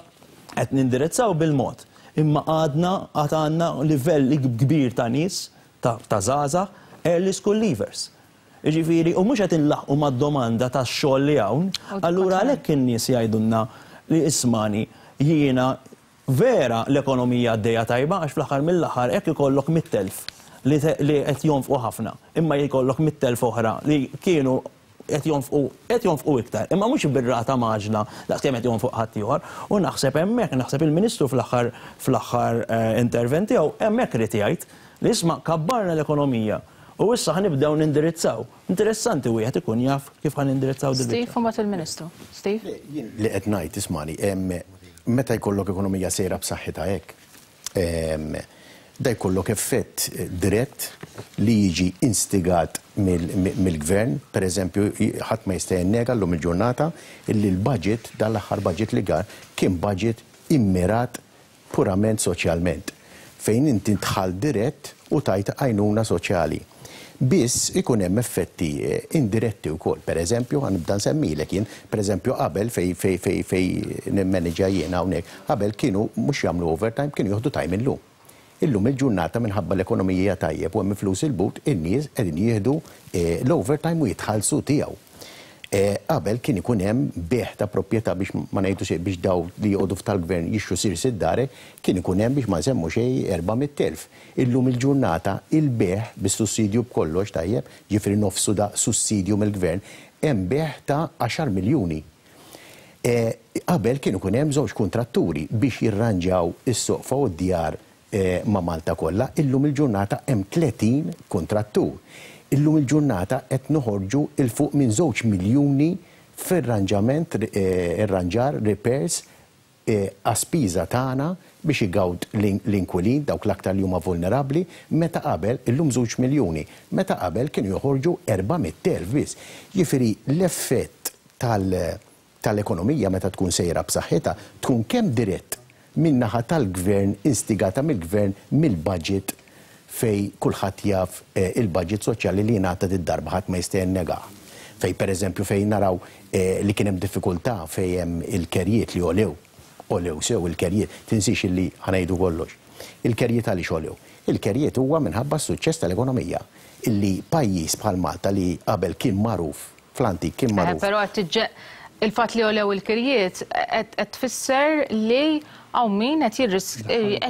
qed nindirizzaw bil-mod. Imma għadna għad għandna livell kbir ta' nies ta' żgħażagħ early school leavers. Jiġifieri, u mhux qed inlaħqu mad-domanda tax-xogħol li hawn, allura għalhekk in-nies jgħidulna li ismani jiena vera l-ekonomija għaddejja tajba għax fl-aħħar mill-aħħar hekk ikollok mitt elf li qed jonfqu ħafna, imma jkollok mitt elf oħra li kienu qed jonfqu qed jonfqu iktar, imma mhux bir-rata maġla daqskemm qed jonfoq ħadd ieħor. U naħseb hemmhekk, naħseb il-Ministru fl-aħħar fl-aħħar intervent tiegħu hemmhekk irid jgħid li isma' kabbarna l-ekonomija u issa ħanibdew nindirizzaw. Interessanti wieħed ikun jaf kif ħanindirizzaw din. Steve, u mbagħad il-Ministru. Steve? Jien li qed ngħid ismani, meta jkollok ekonomija sejra b'saħħitha hekk, da jkollok effett dirett li jiġi instigat mill-gvern, per eżempju, ħadd ma jista' jennega llum il-ġurnata illi l-budget, dan l-aħħar budget li gar, kien budget immirat purament soċjalment, fejn inti tħall dirett u tajt għajnuna soċjali. Biss ikun hemm effetti indiretti wkoll. Per eżempju, ħanibda nsemmilek jien, per eżempju qabel fej fej fej fej nimmanaġġja jien hawnhekk, qabel kienu mhux jagħmlu overtime, kienu jieħdu time illum. Illum il-ġurnata minħabba l-ekonomija tajjeb u hemm flus il-but, in-nies qegħdin jieħdu l-overtime u jitħallsu tiegħu. Qabel kien ikun hemm bejgħ ta' proprjetà biex ma ngħidu xejn biex daw li joqogħdu f'tal-gvern jixtru sirs id-dare, kien ikun hemm biex ma nsemmu xejn erba' mitt elf. Illum il-ġurnata il-bejgħ bis-sussidju b'kollox tajjeb, ġifieri nofsu da sussidju mill-gvern, hemm bejgħ ta' għaxar miljuni. Qabel kien ikun hemm żewġ kuntratturi biex jirranġaw is-soqfa u d-djar ma' Malta kollha, illum il-ġurnata hemm tletin kuntrattur. Illum il-ġurnata qed noħorġu il fuq minn żewġ miljuni fir-ranġament, irranġar, repairs, għaspiża tagħna biex igawd l-inkwilin, dawk l-aktar li huma vulnerabbli, meta qabel illum żewġ miljuni, meta qabel kienu joħorġu erba' mitt elf biss. Jiġifieri l-effett tal-ekonomija meta tkun sejra b'saħħitha tkun kemm dirett min-naħa tal-gvern, instigata mill-gvern, mill-budget fej kulħadd jaf il-budget soċjali li jingħata d-darba ħadd ma jista' jennegah. Fej pereżempju fejn naraw li kien hemm diffikultà fejn hemm il-kerjiet li olew, olew sew il-kerjiet, tinsix illi ħanejdu kollox. Il-kerjiet għaliex olew? Il-kerjiet huwa minħabba s-suċċess tal-ekonomija illi pajjiż bħal Malta li qabel kien magħruf fl-antik kien magħruf. Però il-fatt li olew il-kirjiet qed tfisser li hawn min qed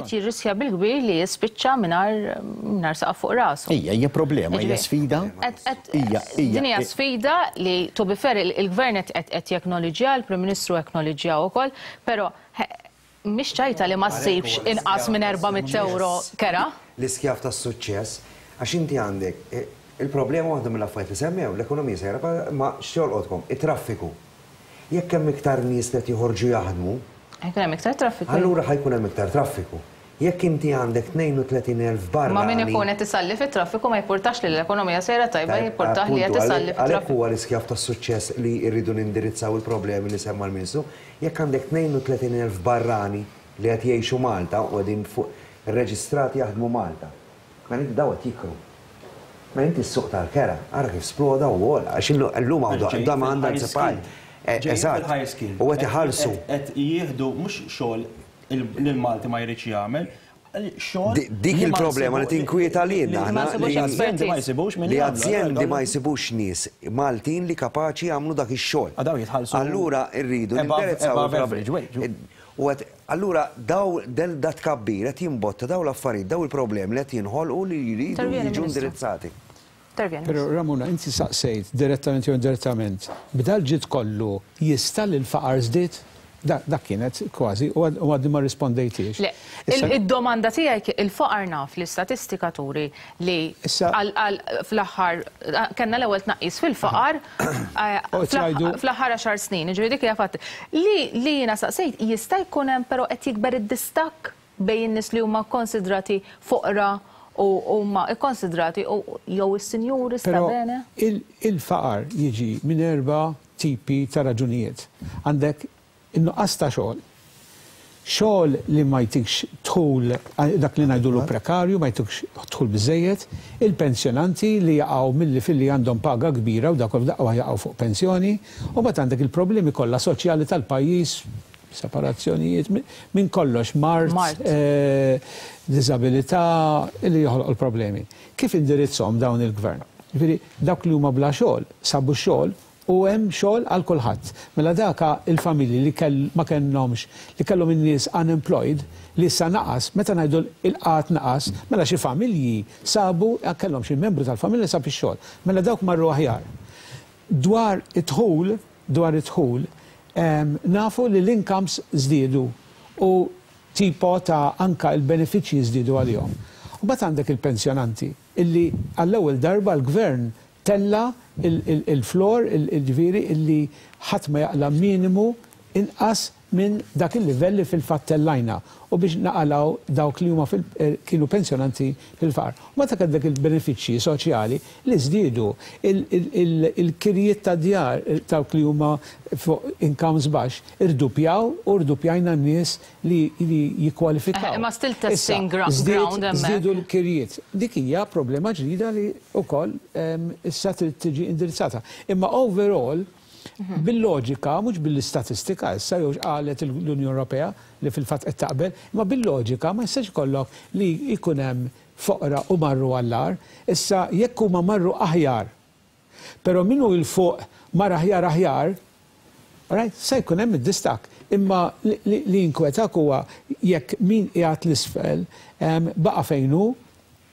jirriskja bil-kbir li jispiċċa mingħajr saqaf fuq rasu. Ija, hija problema, hija sfida. Din hija sfida li to be fair il-gvern qed jeknoliġġja, il-Prim Ministru jeknoliġġja wkoll, però mhix ċajta li ma ssibx inqas minn erba' mitt euro kera. L-iskjav tas-suċċess għax inti għandek il-problema waħda mill-affarijiet li semmew, l-ekonomija sejra ma x'jolqotkom, it-traffiku. Jekk hemm iktar nies li qed joħorġu jaħdmu, ħajkun hemm iktar traffiku. Allura ħajkun hemm iktar traffiku. Jekk inti għandek tnejn u tletin elf barra. Ma min ikun qed isalli fit-traffiku ma jippurtax li l-ekonomija sejra tajba, jippurtax li qed isalli fit-traffiku. Għalhekk huwa l-iskjav tas-suċċess li rridu nindirizzaw il-problemi li semma l-Ministru. Jekk għandek tnejn u tletin elf barrani li qed jgħixu Malta u qegħdin fuq irreġistrati jaħdmu Malta, mela inti daw qed jikru. Mela inti s-suq tal-kera, ara kif sploda u għola, għax illum għandu da ma għandha nsepaj. Eżatt, u qed iħallsu. Qed jieħdu mhux xogħol li l-Malti ma jridx jagħmel, xogħol. Dik il-problema li tinkwieta lilna aħna li azjendi ma jsibux nies Maltin li kapaċi jagħmlu dak ix-xogħol. Allura rridu nindirizzaw il-problema. U allura daw del dat kabbir qed jimbotta daw l-affarijiet, daw il-problemi li qed jinħolqu li jridu jiġu indirizzati. Però Ramona, inti saqsejt direttament jew indirettament, b'dal ġid kollu jista' l-faqar żdied? Dak kienet kważi, u għadni ma rispondejtiex. Le, id-domanda tiegħi il-faqar naf li statistika turi li fl-aħħar kellna l-ewwel tnaqqis fil-faqar fl-aħħar għaxar snin, jiġifieri dik hija fatt. Li jiena saqsejt jista' jkun hemm però qed jikber id-distakk bejn in-nies li huma kkonsidrati foqra u huma kkonsidrati jew is-sinjuri sta bene? Il-faqar jiġi minn erba' tipi ta' raġunijiet. Għandek in-nuqqas ta' xogħol. Xogħol li ma jtikx dħul, dak li ngħidulu prekarju, ma jtikx dħul biżejjed, il-pensjonanti li jaqgħu milli filli għandhom paga kbira u dak daqwa jaqgħu fuq pensjoni, u mbagħad għandek il-problemi kollha soċjali tal-pajjiż, separazzjonijiet, minn kollox, mard, diżabilità, li joħloq il-problemi. Kif indirizzhom dawn il-gvern? Jiġifieri dawk li huma bla xogħol, sabu xogħol u hemm xogħol għal kulħadd. Mela daka il-familji li ma kellhomx, li kellhom in-nies unemployed, li issa naqas, meta ngħidu il-qgħad naqas, mela xi familji sabu kellhom xi membru tal-familja sab ix-xogħol. Mela dawk marru aħjar. Dwar id-dħul, dwar id-dħul, nafu li l-incomes żdiedu u tipo ta' anka il-benefiċċji żdiedu għalihom. U mbagħad għandek il-pensjonanti illi għall-ewwel darba l-gvern tella il-flor, il-ġifieri illi ħadd ma jaqla minimu inqas minn dak il-livell li fil-fatt tellajna u biex naqalaw dawk li huma kienu pensjonanti fil-faqar. U meta għandek il-benefiċċji soċjali li żdiedu il-kirjiet ta' djar dawk li huma fuq incomes baxx irdupjaw u rdupjajna n-nies li jikkwalifikaw. Ma still testing ground hemmhekk. Żdiedu l-kirjiet. Dik hija problema ġdida li wkoll issa trid tiġi indirizzata. Imma overall bil-loġika, mhux bil-istatistika, issa jew qalet l-Unjoni Ewropea li fil-fatt qed taqbel, imma bil-loġika ma jistax ikollok li jkun hemm foqra u marru għall-agħar, issa jekk huma marru aħjar Però min hu 'l fuq mar aħjar aħjar, right, se jkun hemm id-distakk. Imma li jinkwetak huwa jekk min qiegħed 'l isfel baqa' fejn hu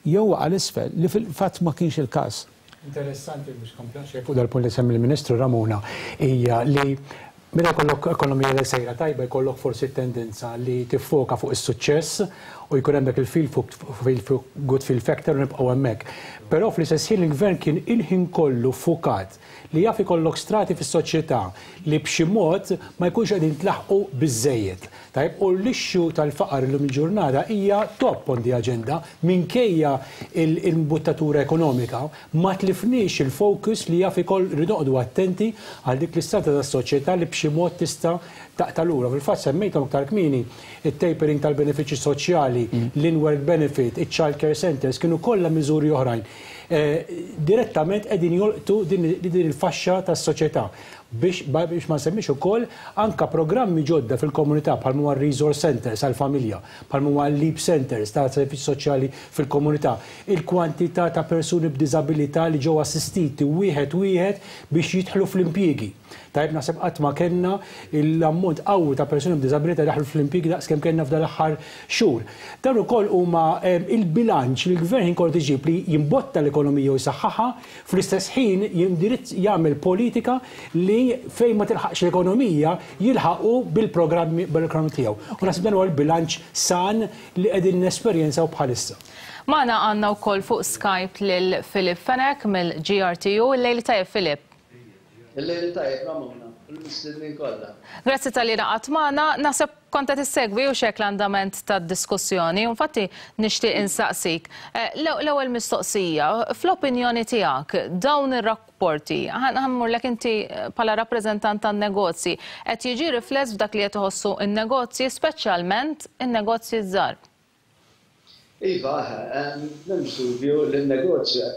jew waqa' 'l isfel, li fil-fatt ma kienx il-każ. Interessanti biex kompla fuq dal-punt li semmi l-Ministru, Ramona, hija li meta jkollok ekonomija li sejra tajba, jkollok forsi tendenza li tiffoka fuq is-suċċess u jkun hemmhekk il-feel good feel factor u nibqgħu hemmhekk. Però fl-istess ħin il-gvern kien il-ħin kollu fukat li jaf ikollok strati fis-soċjetà li b'xi mod ma jkunx qegħdin tlaħqu biżejjed. Tajb, u l-issue tal-faqar illum il-ġurnata hija top on the agenda. Minkejja il-imbuttatura ekonomika, ma tlifniex il-focus li jaf ikoll rridu attenti għal dik l-istrata tas-soċjetà li b'xi mod tista' taqta' lura. Fil-fatt semmejthom aktar kmieni, it-tapering tal-benefiċċji soċjali, l-in-work benefit, il-child care centers, kienu kollha miżuri oħrajn. Eh, direttament qegħdin jolqtu din il-faxxa tas-soċjetà, biex biex ma nsemmix ukoll anka programmi ġodda fil-komunità bħal huwa resource centers għal-familja, bħal huwa LEAP centers ta' servizzi soċjali fil-komunità, il-kwantità ta' persuni b'diżabilità li ġew assistiti wieħed wieħed biex jidħlu fl-impjiegi. Tajb, naħseb qatt ma kellna l-ammont qawwi ta' persuni b'diżabilità daħlu fl-impjiegi daqs kemm kellna f'dal aħħar xhur. Dan ukoll huma il-bilanċ li l-gvern kollu iġib li jimbotta l-ekonomija u jsaħħaħa, fl-istess ħin jindirizz jagħmel politika li fejn ma tilħaqx l-ekonomija jilħaqu bil-programmi bil-programmi tiegħu. U naħseb dan huwa l-bilanċ san li qegħdin nesperjenzaw bħalissa. Magħna għandna wkoll fuq Skype lil Philip Fenech mill-G R T U. Il-lejl tajjeb, Philip. Il-lejl tajjeb, Ramona, u l-mistednin kollha. Grazzi talli ngħaqadt magħna. Naħseb kont qed issegwi u xek l-andament tad-diskussjoni. Infatti nixtieq insaqsik. Eh, l-ewwel mistoqsija, fl-opinjoni tiegħek, dawn ir-rapporti, ħa mmurlek inti bħala rappreżentant tan-negozji, qed jiġi rifless f'dak li qed iħossu in-negozji, speċjalment in-negozji żgħar? Iva, m'hemmx dubju li n-negozju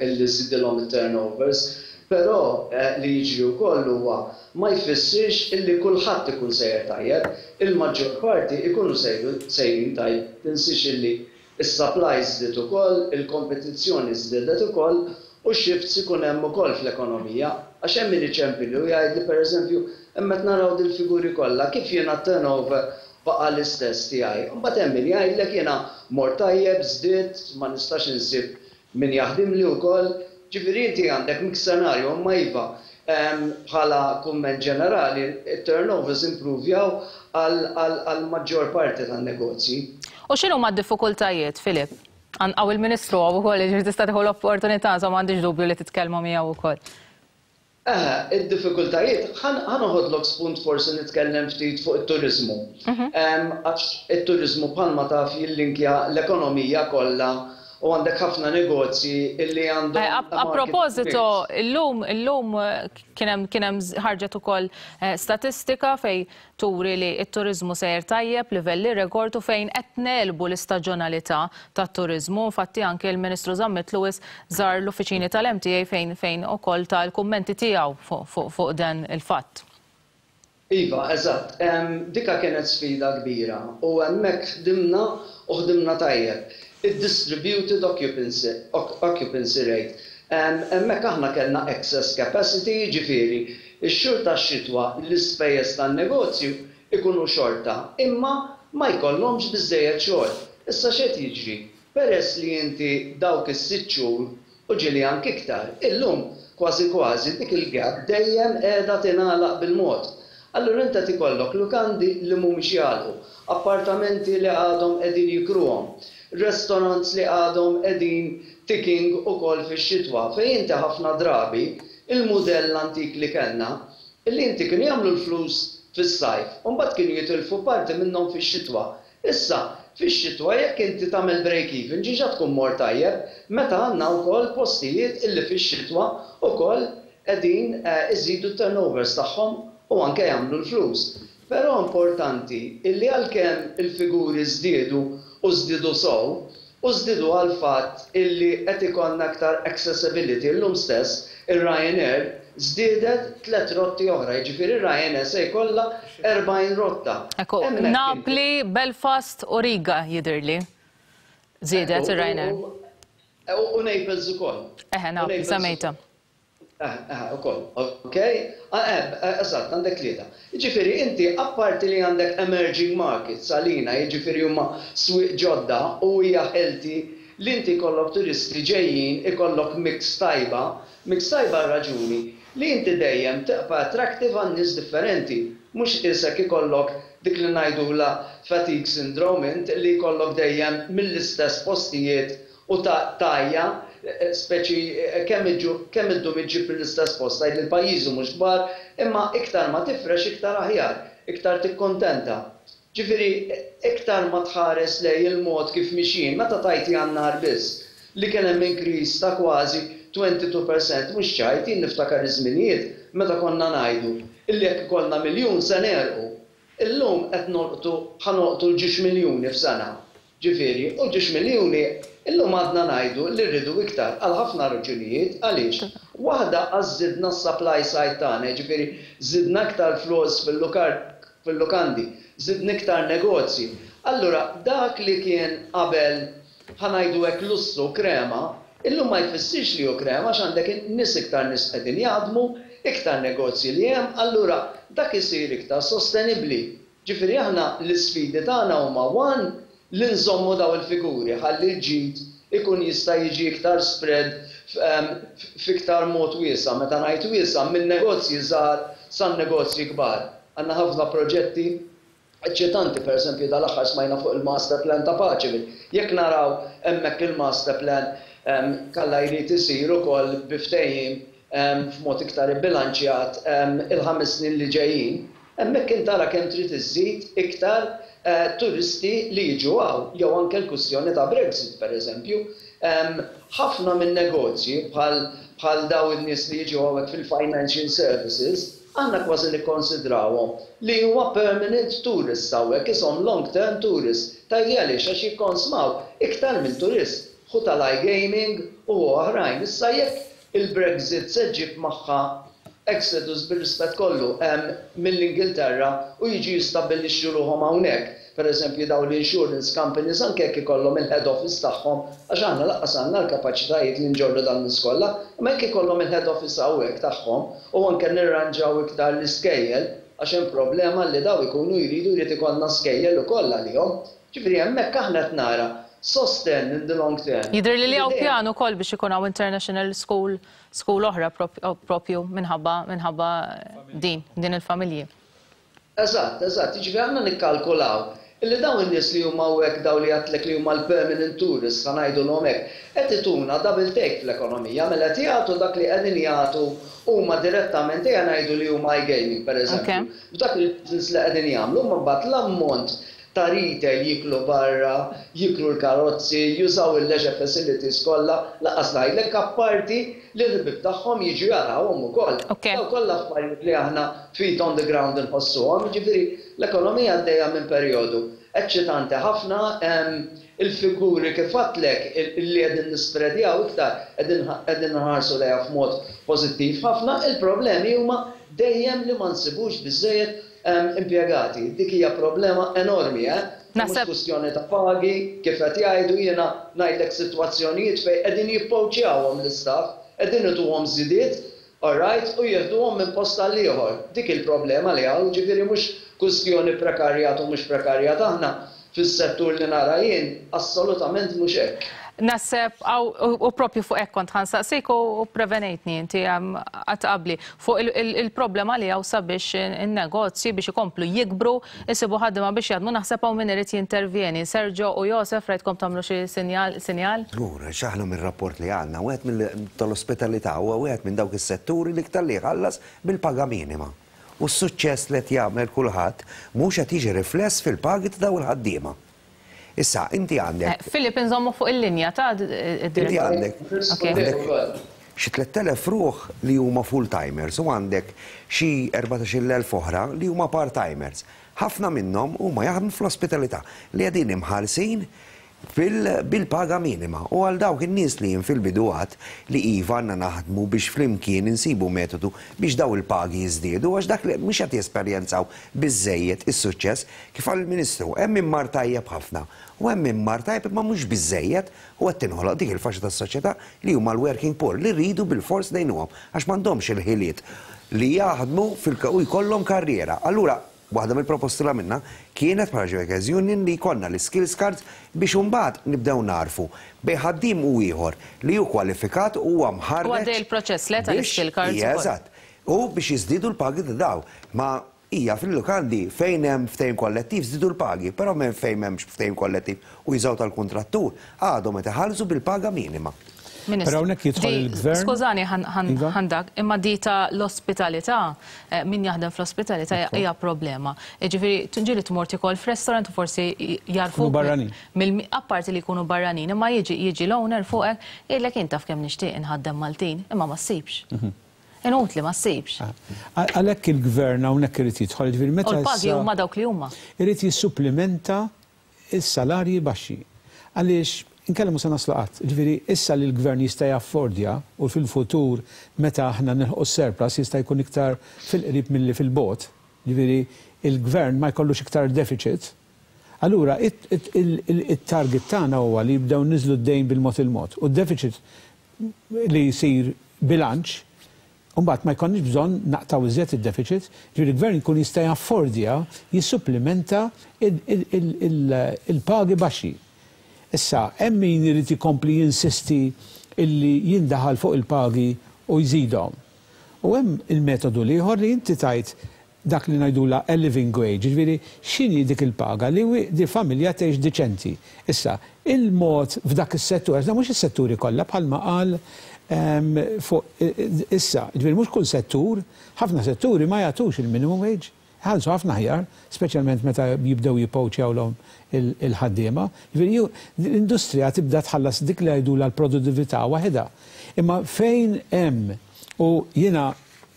illi żidilhom it-turnovers, però eh, li jiġri wkoll huwa ma jfissirx illi kulħadd ikun sejjer tajjeb, il-maġġor parti ikunu sejrin tajjeb. Tinsiex illi is-supply żdied ukoll, il-kompetizzjoni żdiedet ukoll u shifts ikun hemm ukoll fl-ekonomija. Għax hemm min iċempilli u jgħid li, pereżempju, hemm qed naraw dil-figuri kollha, kif jiena turnover baqa' l-istess tiegħi? Imbagħad hemm min jgħidlek, jiena mort tajjeb, żdied, ma nistax insib min jaħdimli wkoll. Ġifieri inti għandek mix scenario, imma iva, bħala kumment ġenerali, it-turnovers improvjaw għal maġġor parti tan-negozji. U x'inhu ma d-diffikultajiet, Filip? Hawn il-Ministru hawn ukoll, ġifieri tista' tieħu l-opportunità, so m'għandix dubju li titkellmu miegħu wkoll. Eh, id-diffikultajiet, ħa noħodlok spunt forsi nitkellem ftit fuq it-turizmu. Għax it-turizmu, bħalma taf, jillinkja l-ekonomija kollha u għandek ħafna negozji illi għandhom. Eh, A proposito, illum illum kien hemm kien hemm ħarġet ukoll eh, statistika fej turi li t-turizmu sejjer tajjeb, livelli rekord, u fejn qed negħlbu l-istaġjonalità tat-turizmu. Infatti anke l-Ministru Zammit Lewis żar l-uffiċini tal-M T A fejn fejn ukoll tal-kummenti tiegħu fuq dan il-fatt. Iva, eżatt. Dika kienet sfida kbira u hemmhekk ħdimna u ħdimna tajjeb. Il-distributed occupancy, occupancy rate. Hemmhekk aħna kellna excess capacity, ġifieri, ix-xhur tax-xitwa l-ispejjeż tan-negozju ikunu xorta, imma ma jkollhomx biżejjed xogħol. Issa x'qed jiġri? Peress li inti dawk is-sitt xhur u ġieli anke iktar, illum kważi kważi dik il-gap dejjem qiegħda tingħalaq bil-mod. Allura inta tikollok lukandi li mhumiex jagħlqu, appartamenti li għadhom qegħdin jikruhom, restaurants li għadhom qegħdin ticking ukoll fix-xitwa, fejn inti ħafna drabi il-mudell antik li kellna, illi inti kienu jagħmlu l-flus fis-sajf, u mbagħad kienu jitilfu parti minnhom fix-xitwa. Issa, fix-xitwa jekk inti tagħmel break even diġà tkun mort tajjeb, meta għandna wkoll postijiet illi fix-xitwa wkoll qegħdin eh, iżidu turnovers tagħhom u anke jagħmlu l-flus. Però importanti illi għalkemm il-figuri żdiedu u żdiedu sew, u żdiedu għal fatt illi qed ikollna aktar accessibility, illum stess ir-Ryanair żdiedet tliet rotti oħra, jiġifieri Ryanair se jkollha erbgħin rotta. Ekku, Napli, Belfast u Riga jidirli. Żiedet ir-Ryanair. U Naples ukoll. Eħe, Naples, semmejta. Eħe, ukoll. Ok? Eżatt, għandek tlieta. Jiġifieri inti apparti li għandek emerging markets għalina, jiġifieri huma swieq ġodda u hija healthy li inti jkollok turisti ġejjin, ikollok mix tajba, mix tajba raġuni li inti dejjem tibqa' attractive għan nies differenti. Mhux isek ikollok dik li ngħidula fatigue syndrome int li jkollok dejjem mill-istess postijiet u ta' tajja, speċi kemm kemm iddum iġġib mill-istess post, tgħid li l-pajjiżi mhux kbar, imma iktar ma tifrex iktar aħjar, iktar tikkontenta. Ġifieri iktar ma tħares lejn il-mod kif mixjin, meta tajt Jannar biss li kien hemm increase ta' kważi twenty-two percent, mhux ċajt. Jien niftakar iż-żminijiet meta konna ngħidu illi jekk ikollna miljun se negħrqu. Illum qed nolqtu ħa nolqtu l-ġiex miljuni f'sena. Ġifieri, u ġiex miljuni illum għadna ngħidu li rridu iktar għal ħafna raġunijiet. Għaliex? Waħda, għax żidna s-supply side tagħna, ġifieri żidna iktar flus fil-lukandi, żidna iktar negozji. Allura dak li kien qabel ħa ngħidu hekk lussu krema, illum ma jfissirx li hu krema għax għandek nies iktar nies qegħdin jaħdmu, iktar negozji li hemm, allura dak isir iktar sostenibbli. Ġifieri aħna l-isfidi tagħna huma one li nżommu daw il-figuri ħalli l-ġid ikun jista' jiġi iktar spread f'iktar mod wiesa', meta ngħid wiesa' minn negozji żgħar sa negozji kbar. Għandna ħafna proġetti eċċitanti, per eżempju dal-aħħar smajna fuq il-master plan ta' Paceville. Jekk naraw hemmhekk il-master plan kalla jrid isir ukoll bi ftehim f'mod iktar bilanċjat il-ħames snin li ġejjin, hemmhekk intara kemm trid iżżid iktar eh, turisti li jiġu hawn, jew anke l-kwistjoni ta' Brexit, per eżempju. Ħafna minn negozji bħal bħal daw in-nies li jiġu hawnhekk fil-financial services, għandna kważi nikkonsidrawhom li huwa permanent tourists hawnhekk, ishom long term tourists. Tgħidli għaliex? Għax jikkonsmaw iktar minn turist. Ħu tal-iGaming u oħrajn. Issa jekk il-Brexit se ġġib magħha exodus, bir-rispett kollu, mill-Ingilterra u jiġi jistabbilixxu ruħhom hawnhekk. Per eżempju daw l-insurance companies, anke jekk ikollhom il-head office tagħhom, għax aħna lanqas għandna l-kapaċitajiet li nġorru dan l-iskolla, imma jekk ikollhom il-head office hawnhekk tagħhom u anke nirranġaw iktar l-iskejjel, għax hemm problema li daw ikunu jridu jrid ikollna skejjel ukoll għalihom. Ġifieri hemmhekk aħna qed nara sosten in the long term. Jidher li li hawn pjan ukoll biex ikun hawn international school school oħra propju minħabba minħabba din din il-familji. Eżatt, eżatt, jiġifieri aħna nikkalkulaw illi dawn in-nies li huma hawnhekk, daw li għedtlek li huma l-permanent tourists, ħa ngħidulhom hekk, qed ituna double take fl-ekonomija, mela qed jagħtu dak li qegħdin jagħtu huma direttament, ejja ngħidu li huma iGaming, pereżempju. F'dak il-business li qegħdin jagħmlu, ma mbagħad l-ammont ta' retail, jiklu barra, jiklu l-karozzi, jużaw il-leisure facilities kollha, lanqas ngħidlek apparti li l-ħbieb tagħhom jiġu jarawhom ukoll. Daw kollha affarijiet li aħna feet on the ground inħossuhom, jiġifieri l-ekonomija għaddejja minn perjodu eċċitanti ħafna, il-figuri kif għedtlek li qegħdin nispredjaw iktar qegħdin nħarsu lejha f'mod pożittiv ħafna, il-problemi huma dejjem li ma nsibux biżejjed impjegati. Dik hija problema enormi, eh? Mhux kwistjoni ta' pagi, kif qed jgħidu. Jiena ngħidlek sitwazzjonijiet fejn qegħdin jippoċjawhom l-istaff, qegħdin ituhom żidiet, all right, u jieħduhom minn post għal ieħor. Dik il-problema li hawn, ġifieri mhux kwistjoni prekarjat u mhux prekarjat, aħna fis-settur li nara jien assolutament mhux hekk. Naħseb, u propju fuq hekk kont ħa nsaqsik u prevenejtni inti għat qabli fuq il-problema li hawn sabiex il-negozji biex ikomplu jikbru, isibu ħaddiema biex jaħdmu. Naħseb hawn min irid jintervjeni. Sergio u Josef, rajtkom tagħmlu xi sinjal sinjal? Żgur, x'aħna mir-rapport li għandna, wieħed mill tal-ospitalità huwa wieħed minn dawk is-setturi li iktar li jħallas bil-paga minima. U s-suċċess li qed jagħmel kulħadd mhux qed jiġi rifless fil-pagi ta' dawn il-ħaddiema. Issa, inti għandek. Eh, Filip, nżommu fuq il-linja ta' Inti għandek xi tlett elef ruħ li huma full-timers u għandek xi erbatax-il elf oħra li huma part-timers. Ħafna minnhom huma jaħdmu fl-ospitalità li qegħdin imħallsin Bil-paga minima. U għal dawk in-nies li jien fil-bidu għedt li iva, għandna naħdmu biex flimkien insibu metodu biex daw il-pagi jiżdiedu, għax dak li mhux qed jesperjenzaw biżejjed is-suċċess. Kif qal il-Ministru, hemm min mar tajjeb ħafna u hemm min mar tajjeb imma mhux biżejjed, u qed tinħoloq dik il-faxxa tas-soċjetà li huma l-working poor, li rridu bil-fors ngħinuhom għax m'għandhomx il-ħiliet li jaħdmu u jkollhom karriera. Allura, waħda mill-proposti li għamilna kienet bħala Workers Union li jkollna l-skills cards biex imbagħad nibdew narfu bejn ħaddiem u ieħor li hu kwalifikat u huwa mħarreġ. U għaddej il-proċess le tal-skill cards. Eżatt. U biex jiżdiedu l-pagi ta' daw. Ma hija fil-lukandi fejn hemm ftehim kollettiv żdiedu l-pagi, però minn fejn m'hemmx ftehim kollettiv u jużaw tal-kontrattur għadhom qed iħallsu bil-paga minima. Però hawnhekk jidħol il-gvern. Skużani ħandak, imma di ta' l-ospitalità, eh, min jaħdem fl-ospitalità hija problema. Ġifieri ġieli tmur tikol f'restaurant u forsi jarfu. Barranin. Apparti li jkunu barranin, imma jiġi jiġi l-owner fuqek, jgħidlek, "Jien taf kemm nixtieq inħaddem Maltin, imma ma ssibx. Mhm. Inutli, ma ssibx." Ah. Għalhekk il-gvern hawnhekk irid jidħol, ġifieri meta. U l-pagi huma dawk li huma. Irid jissuplimenta is-salarji baxxi. Għaliex inkella mhux se naslu qatt. Ġifieri issa li l-gvern jista' jaffordja, u fil-futur meta aħna nilħqu surplus, jista' jkun iktar fil-qrib milli fil-bogħod. Ġifieri il-gvern ma jkollux iktar deficit. Allura it-target tagħna huwa li jibdew niżlu d-dejn bil-mod il-mod. U d-deficit li jsir bilanċ, imbagħad ma jkollniex bżonn naqtaw iżjed id-deficit, ġifieri il-gvern jkun jista' jaffordja jissuplimenta il-pagi baxxi. Issa, hemm min irid ikompli jinsisti illi jindaħal fuq il-pagi u jżidhom. U hemm il-metodu l-ieħor li inti tajt dak li ngħidula a living wage, ġifieri x'inhi dik il-paga li di familja tgħix diċenti. Issa, il-mod f'dak is-settur, għax mhux is-setturi kollha bħalma qal fuq issa, ġifieri mhux kull settur, ħafna setturi ma jagħtux il-minimum wage. Ħallsu ħafna aħjar, speċjalment meta jibdew jippowċjawlhom il-ħaddiema. Ġifieri l-industrija tibda tħallas dik li jgħidula l-produttività waħedha. Imma fejn hemm, u jiena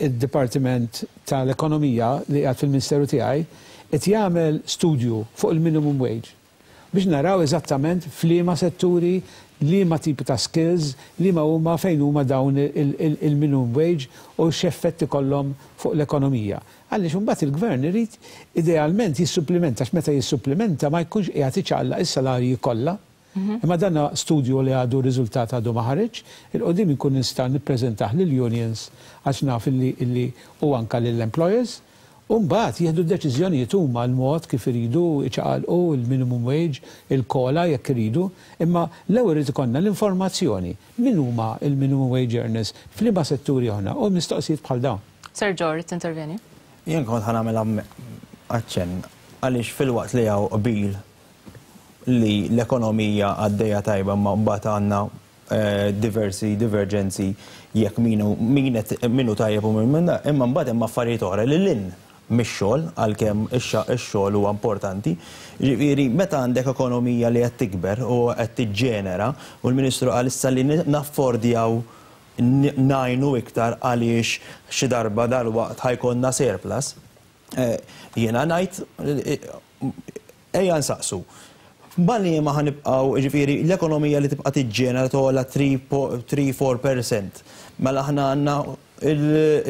id-Dipartiment tal-Ekonomija li qiegħed fil-Ministeru tiegħi qed jagħmel studju fuq il-minimum wage biex naraw eżattament f'liema setturi, liema tipi ta' skills, liema huma fejn huma dawn il-minimum wage u x'effett ikollhom fuq l-ekonomija. Għaliex imbagħad il-gvern irid idealment jissupplimenta, għax meta jissupplimenta ma jkunx qiegħed iċaqlaq is-salarji kollha. Mhm. Imma dan studju li għadu riżultat għadu ma ħareġ, 'il quddiem inkun nista' nippreżentah lill-unions għax naf illi u anka lill-employers. U mbagħad jieħdu deċiżjonijiet huma l-mod kif iridu iċaqalqu il-minimum wage, il-COLA jekk iridu, imma l-ewwel irid ikollna l-informazzjoni min huma il-minimum wage earners, f'liema setturi aħna, u mistoqsijiet bħal dawn. Sir George, intervjeni. Jien kont ħa nagħmel aċċenn għaliex filwaqt li hawn qbil li l-ekonomija għaddejja tajba, ma mbagħad għandna eh, diversi divergenzi jekk minu minu tajjeb u min, imma mbagħad hemm affarijiet oħra li lin mix-xogħol, għalkemm ix-xogħol huwa importanti. Ġifieri meta għandek ekonomija li qed tikber u qed tiġġenera, u l-Ministru qal issa li naffordjaw ngħinu iktar għaliex xi darba dal-waqt ħa jkollna surplus. Eh, jiena ngħid eh, ejja nsaqsu. Balli ma ħa nibqgħu, ġifieri, l-ekonomija li tibqa' tiġġenera togħla tlieta punt tlieta-erbgħa fil-mija. Mela aħna għandna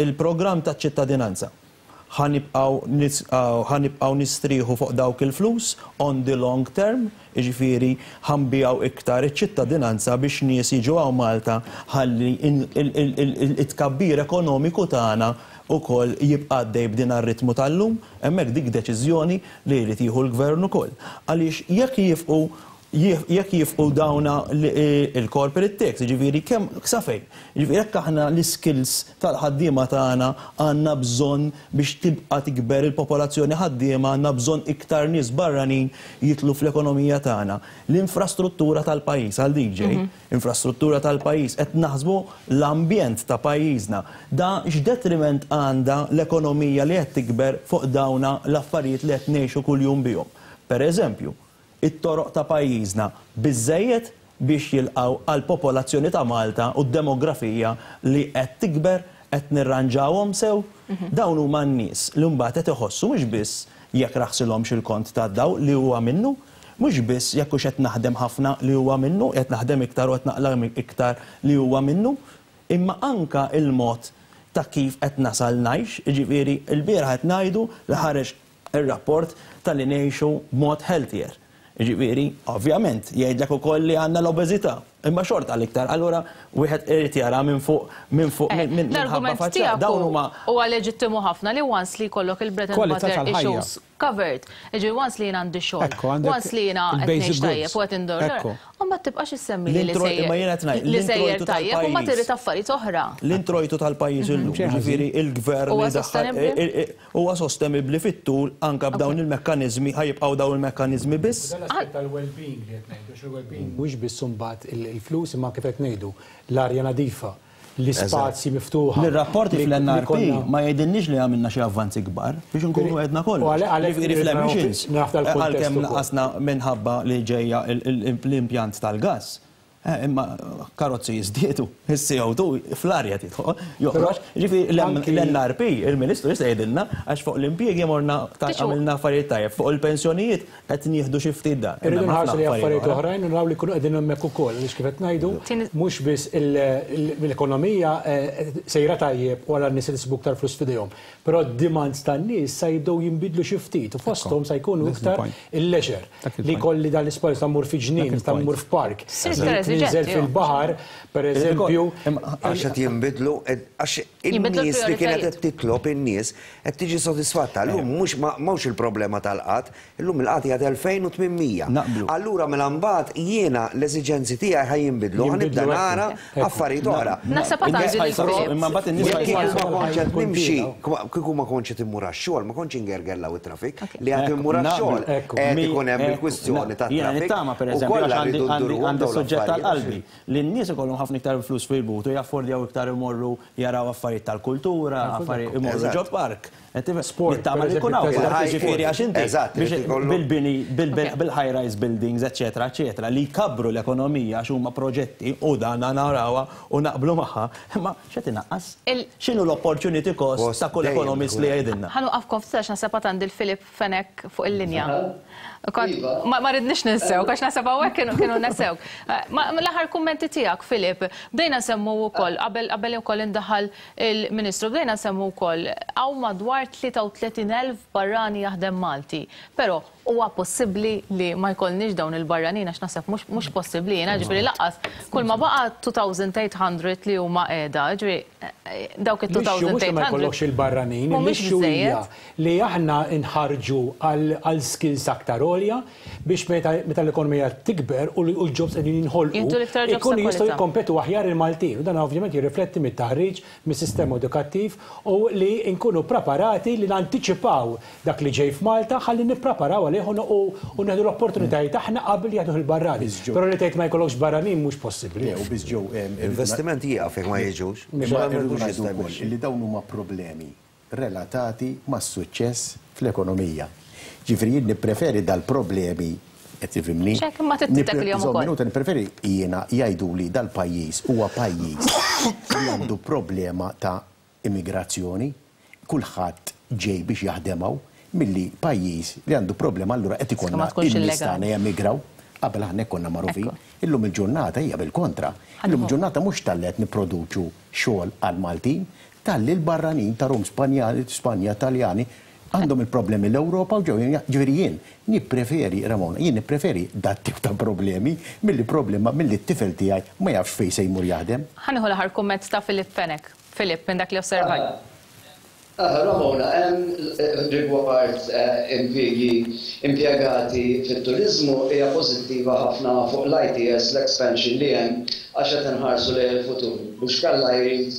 il-programm ta' ċittadinanza. Ħa nibqgħu nistrieħu fuq dawk il-flus on the long term, ġifieri ħa nbigħu iktar iċ-ċittadinanza biex nies jiġu hawn Malta ħalli it-tkabbir ekonomiku tagħna ukoll jibqa' għaddej b'din ar-ritmu tal-lum, hemmhekk dik deċiżjoni li jrid jieħu l-gvern ukoll. Għaliex jekk jifqu jekk jifqu dawna il-corporate tax, ġifieri kemm sa fejn. Ġifieri jekk aħna l-skills tal-ħaddiema tagħna għandna bżonn biex tibqa' tikber il-popolazzjoni ħaddiema, għandna bżonn iktar nies barranin jidħlu fl-ekonomija tagħna. L-infrastruttura tal-pajjiż għal D J, mhm. infrastruttura tal-pajjiż, qed naħsbu l-ambjent ta' pajjiżna. Da x'detriment għandha l-ekonomija li qed tikber fuq dawna l-affarijiet li qed ngħixu kuljum bihom? Per eżempju, it-toroq ta' pajjiżna biżejjed biex jilqaw għal popolazzjoni ta' Malta u d-demografija li qed tikber, qed nirranġawhom sew? Mhm. Dawn huma n-nies li mbagħad qed iħossu mhux biss jekk raħsilhomx il-kont tad-dawl li huwa minnu, Mhux biss jekk hux qed naħdem ħafna li huwa minnu, qed naħdem iktar u qed naqla' iktar li huwa minnu, imma anka il-mod ta' kif qed nasal ngħix, jiġifieri l-bieraħ qed ngħidu li ħareġ ir-rapport tal-li ngħixu b'mod healthier. Jiġifieri, ovvjament, jgħidlek ukoll li għandna l-obeżità, imma xorta l-iktar. Allura wieħed irid jara minn fuq minn fuq minn L-argument tiegħek huwa leġittimu ħafna li once li jkollok il-bread and butter issues covered. Jiġifieri once li jien għandi xogħol, once li jiena qed ngħix tajjeb u qed indur. U ma tibqax issemmi li sejjer li sejjer tajjeb u ma trid affarijiet oħra. L-introjtu tal-pajjiż illum, jiġifieri il-gvern huwa sostenibbli fit-tul anke b'dawn il-mekkaniżmi, ħa jibqgħu dawn il-mekkaniżmi biss. Tal-well-being li qed ngħidu, il-well-being mhux biss imbagħad il-flus imma kif qed ngħidu l-arja nadifa, l-ispazji miftuħa. L-rapporti fl-N R P ma jgħidilniex li għamilna xi avvanzi kbar biex nkunu għedna kollox. Jiġifieri fl-emissions, għalkemm naqasna minħabba li ġejja l-impjant tal-gas. Imma karozzi jiżdiedu, il-C O two fl-arja tidħol, joħroġ. Ġifieri l-N R P, il-Ministru jista' jgħidilna għax fuq l-impjiegi morna għamilna affarijiet tajjeb, fuq il-pensjonijiet qed nieħdu xi ftit dan. Irridu nħarsu li affarijiet oħrajn u naraw li kunu qegħdin hemmhekk ukoll, għaliex kif qed ngħidu, mhux biss l-ekonomija sejra tajjeb u għal nies isibu iktar flus f'idejhom, però d-demands tan-nies sa jibdew jinbidlu xi ftit u fosthom sa jkunu iktar il-leisure li kolli dan l-ispazju ta' mmur fi ġnien, ta' mmur f'park. Ninżel fil-baħar, per eżempju. Għax qed jinbidlu, għax in-nies li kienet qed titlob in-nies qed tiġi sodisfatta. Llum mhux mhux il-problema tal-qgħad, illum il-qgħad qiegħed elfejn u tmien mija. Allura mela mbagħad jiena l-eżiġenzi tiegħi ħa jinbidlu, ħa nibda nara affarijiet oħra. Imma mbagħad in-nies ma kontx qed nimxi, kieku ma kontx qed immur għax-xogħol, ma kontx ingerger it-traffic li qed immur għax-xogħol qed ikun hemm il-kwistjoni tat-traffic. Nittama per eżempju għandi suġġett tal-qalbi li n-nies ikollhom ħafna iktar flus fil-but u jaffordjaw iktar imorru jaraw affarijiet tal-kultura, affarijiet imorru ġo park. Sport. Nittama li jkun hawn, ġifieri għax inti bil-bini, bil-high-rise buildings, eċetera, eċetera, li jkabru l-ekonomija għax huma proġetti u dan narawha u naqblu magħha, imma x'qed inaqqas? X'inhu l-opportunity cost ta' kull ekonomist li jgħidilna? Ħa nieqafkom ftit naħseb għandi l-Filip Fenek fuq il-linja. Ma ridniex ninsew, għax naħseb hawnhekk kienu nesew. L-aħħar kummenti tiegħek, Filip, bdejna nsemmu wkoll, qabel ukoll indaħal il-Ministru, bdejna nsemmu wkoll hawn madwar tlieta u tletin elf barrani jaħdem Malti. Però huwa possibbli li ma jkollniex dawn il-barranin għax naħseb mhux possibbli jiena, ġifieri lanqas kull ma baqa' elfejn u tmien mija li huma qiegħda, ġifieri dawk it-elfejn u tmien mija. Ma jkollokx il-barranin, l-issue li aħna nħarġu għal skills aktar għolja biex meta l-ekonomija tikber u l-jobs qegħdin jinħolqu, ikunu jistgħu jikkompetu aħjar il-Maltin. U dan ovvjament jirrifletti mit-taħriġ, mis-sistema edukattiv u li nkunu preparati li nantiċipaw dak li ġej f'Malta ħalli nippreparaw għalih u nieħdu l-opportunitajiet aħna qabel jieħdu il-barrani. Però li tgħid ma jkollokx barranin mhux possibbli. U biss ġew Investiment jieqaf jekk ma jiġux. Li dawn huma problemi relatati mas-suċċess fl-ekonomija. Ġifieri jien nippreferi dal-problemi, qed tifhimni? Ma tittek li ukoll. Minuta, nippreferi jiena jgħidu li dal-pajjiż huwa pajjiż li għandu problema ta' immigrazzjoni, kulħadd ġej biex jaħdem hawn, milli pajjiż li għandu problema allura qed ikollna in-nies tagħna jemigraw. Qabel aħna konna magħrufin. Illum il-ġurnata hija bil-kontra. Illum il-ġurnata mhux talli qed nipproduċu xogħol għal Maltin, talli l-barranin ta' Rum Spanjali, Spanja, Taljani għandhom il-problemi l-Ewropa u ġew. Ġifieri jien nippreferi, Ramona, jien nippreferi dat tip ta' problemi milli problema milli t-tifel tiegħi ma jafx fejn se jmur jaħdem. Ħa nieħu l-aħħar kumment ta' Filip Fenek. Filip, minn dak li osservajt. Ramona, rigward impjiegi impjegati fit-turizmu hija pożittiva ħafna fuq l-I T S l-expansion li hemm għax qed inħarsu lejn il-futur. Mhux kalla jrid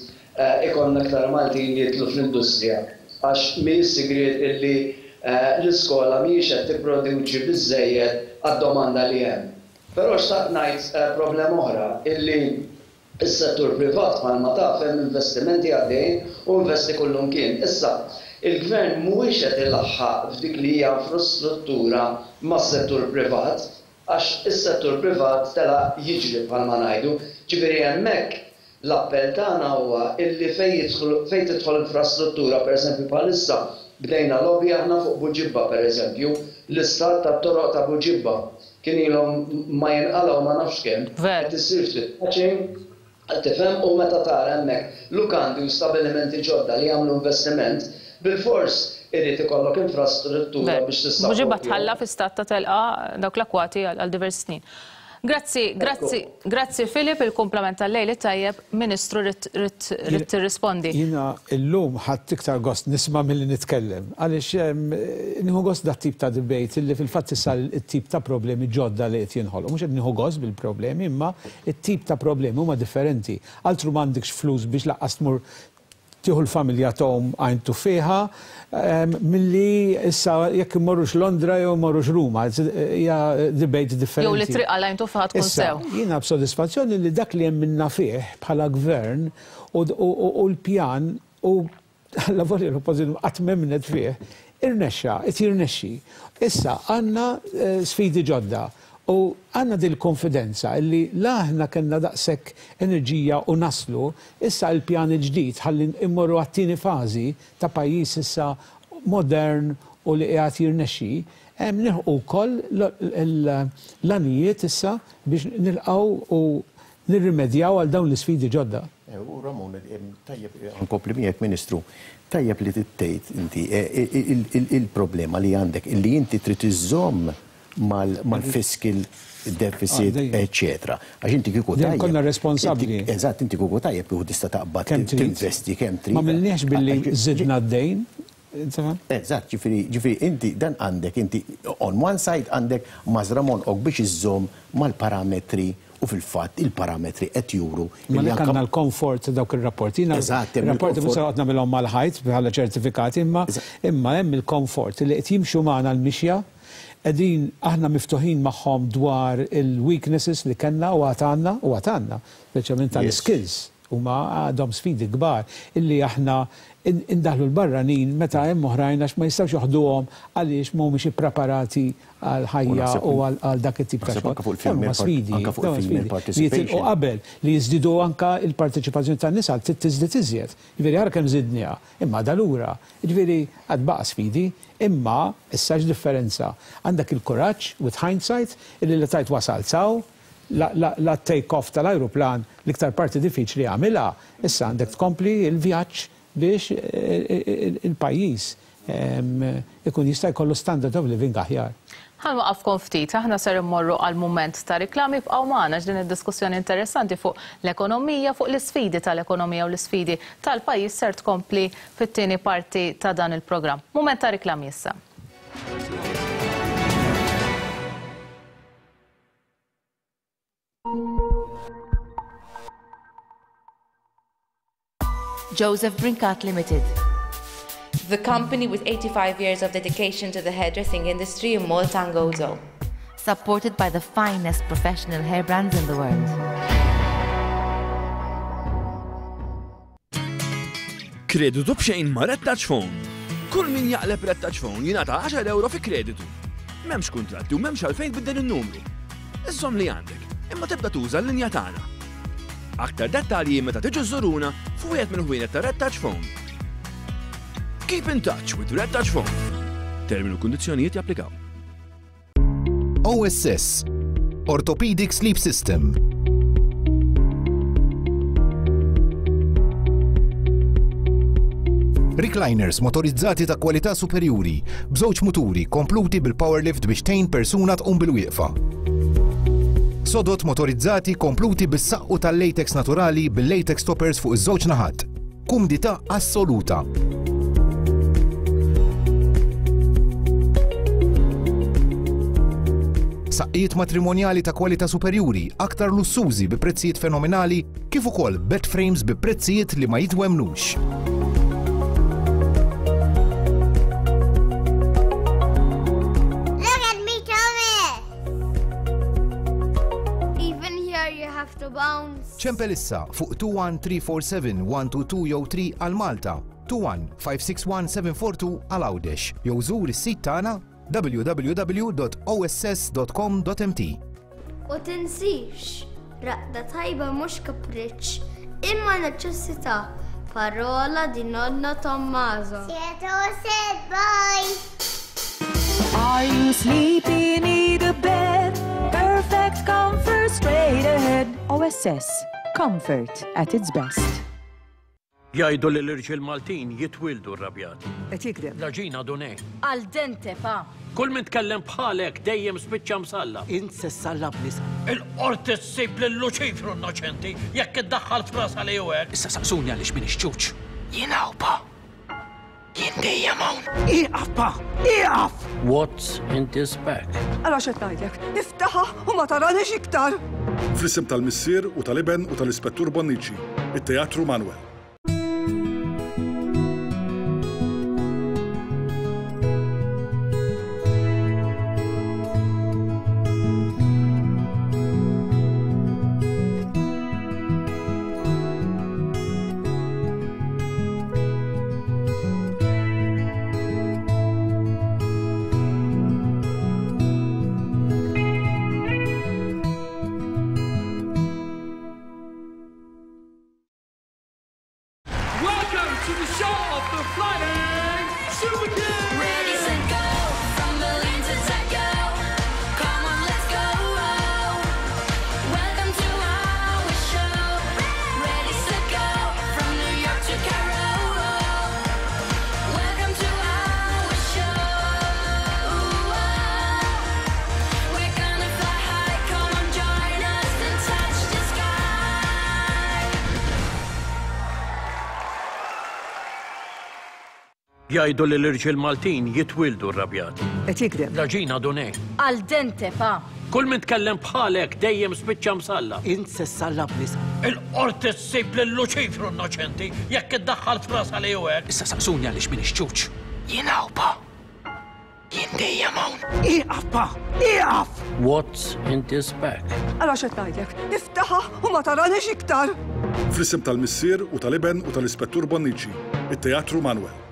ikollna aktar Maltin jidħlu fl-industrija għax mhijiex sigriet illi l-iskola mhijiex qed tipproduċi biżejjed għad-domanda li hemm. Però xtaqt ngħid problema oħra illi is-settur privat bħalma taf hemm investimenti għaddejjin u investi kullimkien. Issa, il-gvern mhuwiex qed ilaħħaq f'dik li hija infrastruttura mas-settur privat għax is-settur privat tela jiġri bħalma ngħidu. Ġifieri hemmhekk l-appell tagħna huwa illi fejn fejn tidħol infrastruttura, pereżempju bħalissa bdejna lobby aħna fuq Buġibba pereżempju, L-istat tat-toroq ta' Buġibba kien ilhom ma jinqalgħu ma nafx kemm, qed issir ftit patching, tifhem, u meta tara hemmhekk lukandi u stabilimenti ġodda li jagħmlu investiment, bilfors irid ikollok infrastruttura biex tissapportjahom. Buġibba tħalla fi stat ta' telqa dawk l-akwati għal diversi snin. Grazzi, grazzi, grazzi Filip, il-kumplament tal-lejl it-tajjeb, Ministru rrid tirrispondi. Jiena llum ħadt iktar gost nisma' milli nitkellem, għaliex nieħu gost dat tip ta' debate illi fil-fatt issa t-tip ta' problemi ġodda li qed jinħolqu. Mhux qed nieħu gost bil-problemi, imma t-tip ta' problemi huma differenti. Altru m'għandekx flus biex laqqas tmur tieħu l-familja tgħum għajn tuffiħa, milli issa jekk immorrux Londra jew immorrux Ruma, hija debate differenti. Jew li triq għal għajn tuffiħa tkun sew. Jiena b'sodisfazzjoni li dak li hemm minna fih bħala gvern u l-pjan u l-lavorja l-oppożizzjoni qatt m'emmnet fih, irnexxa, qed jirnexxi. Issa għandna sfidi ġodda. U għanna dil-konfidenza illi la aħna kellna daqshekk enerġija u naslu, issa l-pjan il-ġdid ħalli immorru għat-tieni fażi ta' pajjiż issa modern u li qiegħed jirnexxi, hemm nilħqu wkoll l-għanijiet issa biex nilqgħu u nirrimedjaw għal dawn l-isfidi ġodda. U Ramon, tajjeb, nkompli miegħek Ministru, tajjeb li tittejt inti il-problema li għandek illi inti trid iżżomm mal-fiscal deficit, eccetera. Għax inti kieku tajjeb. Konna responsabbli. Eżatt, inti kieku tajjeb kieku tista' taqbad tinvesti kemm trid. Ma milniex billi żidna d-dejn. Eżatt, ġifieri ġifieri inti dan għandek inti on one side għandek mażra monqok biex iżżomm mal-parametri u fil-fatt il-parametri qed juru. Ma li għandna l-komfort dawk ir-rapporti. Eżatt, rapporti mhux se noqgħod nagħmilhom mal-ħajt bħala ċertifikati, imma imma hemm il-komfort li qed jimxu magħna l-mixja. Qegħdin aħna miftuħin magħhom dwar il-weaknesses li kellna u għad għandna u għad għandna, speċjalment tal-skills, huma għadhom sfidi kbar illi aħna indaħlu l-barranin meta hemm oħrajn għax ma jistgħux joħduhom għaliex mhumiex ippreparati għal ħajja u għal dak it-tip ta' xogħol. Huma sfidi, li jitilqu qabel li jiżdiedu anke l-parteċipazzjoni tan-nisa trid tiżdied iżjed. Jiġifieri ara kemm żidniha, imma dalura. Jiġifieri għad baqa' sfidi, imma issa x'differenza. Għandek il-kuraġġ with hindsight illi li tajt wasal saw, la take off tal-ajruplan l-iktar parti diffiċli għamilha, issa għandek tkompli l-vjaġġ biex il-pajjiż ikun jista' jkollu standard of living aħjar. Ħa nwaqafkom ftit, aħna ser immorru għal mument ta' riklami, bqgħu magħna din id-diskussjoni interessanti fuq l-ekonomija, fuq l-isfidi tal-ekonomija u l-isfidi tal-pajjiż ser tkompli fit-tieni parti ta' dan il-programm. Mument ta' riklami issa. Joseph Brincat Limited, the company with eighty-five years of dedication to the hairdressing industry in Malta and Gozo. Supported by the finest professional hair brands in the world. Kreditu b'xejn ma' Red Touch Phone. Kull min jaqleb Red Touch Phone jingħata għaxar euro fi kreditu. M'hemmx kuntratti u m'hemmx għalfejn tbiddel in-numru. Iżżomm li għandek, imma tibda tuża l-linja tagħna. Aktar dettalji meta tiġu żuruna f'wieħed mill-ħwienet ta' Red Touch Phone. Keep in touch with Red Touch Phone. Termini u kundizzjonijiet japplikaw. O S S Orthopedic Sleep System. Recliners motorizzati ta' kwalità superjuri, b'żewġ muturi kompluti bil-power lift biex tgħin persuna tqum bil-wieqfa. Sodot motorizzati kompluti bis-saqqu tal-latex naturali bil-latex toppers fuq iż-żewġ naħat. Kumdità assoluta. Saqqijiet matrimonjali ta' kwalità superjuri, aktar lussużi bi prezzijiet fenomenali, kif ukoll bed frames bi prezzijiet li ma jitwemnux. Look at me, Thomas! Even here you have to bounce. Ċempel issa fuq two one three four seven one two two jew three għal Malta, two one five six one seven four two għal Għawdex, jew żur is-sit tagħna w w w dot o s s dot com dot m t. U tinsix, raqda tajba mhux kapriċċ, imma neċessità. Parola di nonno Tommaso. Sieto set, bye! Are you sleepy? Need a bed? Perfect comfort straight ahead. O S S. Comfort at its best. Jgħidu li l-irġiel Maltin jitwildu rrabjati. Qed jikdeb. L-għaġina Dunè. Al dente, pa. Kull min tkellem bħalek dejjem spiċċa msallab. Int se ssallabni sa. Il-qorti ssib lil Luċifru innoċenti jekk iddaħħal frasa li hu hekk. Issa saqsuni għaliex m'iniex ċuċ. Jien hawn, pa. Jien dejjem hawn. Ieqaf, pa! Ieqaf! What's in this bag? Ara x'qed ngħidlek, iftaħha u ma taranix iktar. Fl-isem tal-Missier u tal-Iben u tal-Ispettur Bonnici, it-Teatru Manuel. Welcome to the show of the Flying Super Kids! Ready, set, go! From Berlin to Tokyo. Come on, let's go! Welcome to our show. Ready, set, go! From New York to Cairo. Welcome to our show. We're gonna fly high. Come on, join us and touch the sky. Jgħidu li l-irġiel Maltin jitwildu rrabjati. Qed jikdeb. L-għaġina Dunè. Al dente, pa. Kull min tkellem bħalek dejjem spiċċa msallab. Int se ssallabni sa. Il-qorti ssib lil Luċifru innoċenti jekk iddaħħal frasa li hu hekk. Issa saqsuni għaliex m'iniex ċuċ. Jien hawn, pa. Jien dejjem hawn. Ieqaf, pa! Ieqaf! What's in this bag? Ara x'qed ngħidlek, iftaħha u ma taranix iktar. Fl-isem tal-Missier u tal-Iben u tal-Ispettur Bonnici, it-Teatru Manuel.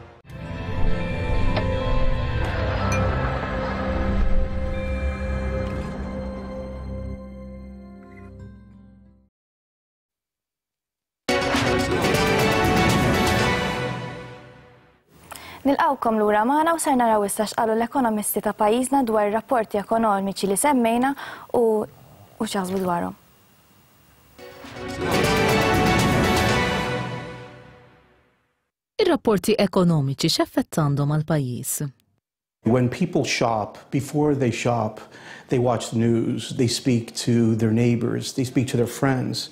Nilqawkom lura magħna u ser naraw issa x'qalu l-ekonomisti ta' pajjiżna dwar rapporti ekonomiċi li semmejna u u x'jaħsbu dwarhom. Ir-rapporti ekonomiċi x'effett għandhom għall-pajjiż? When people shop, before they shop, they watch the news, they speak to their neighbors, they speak to their friends.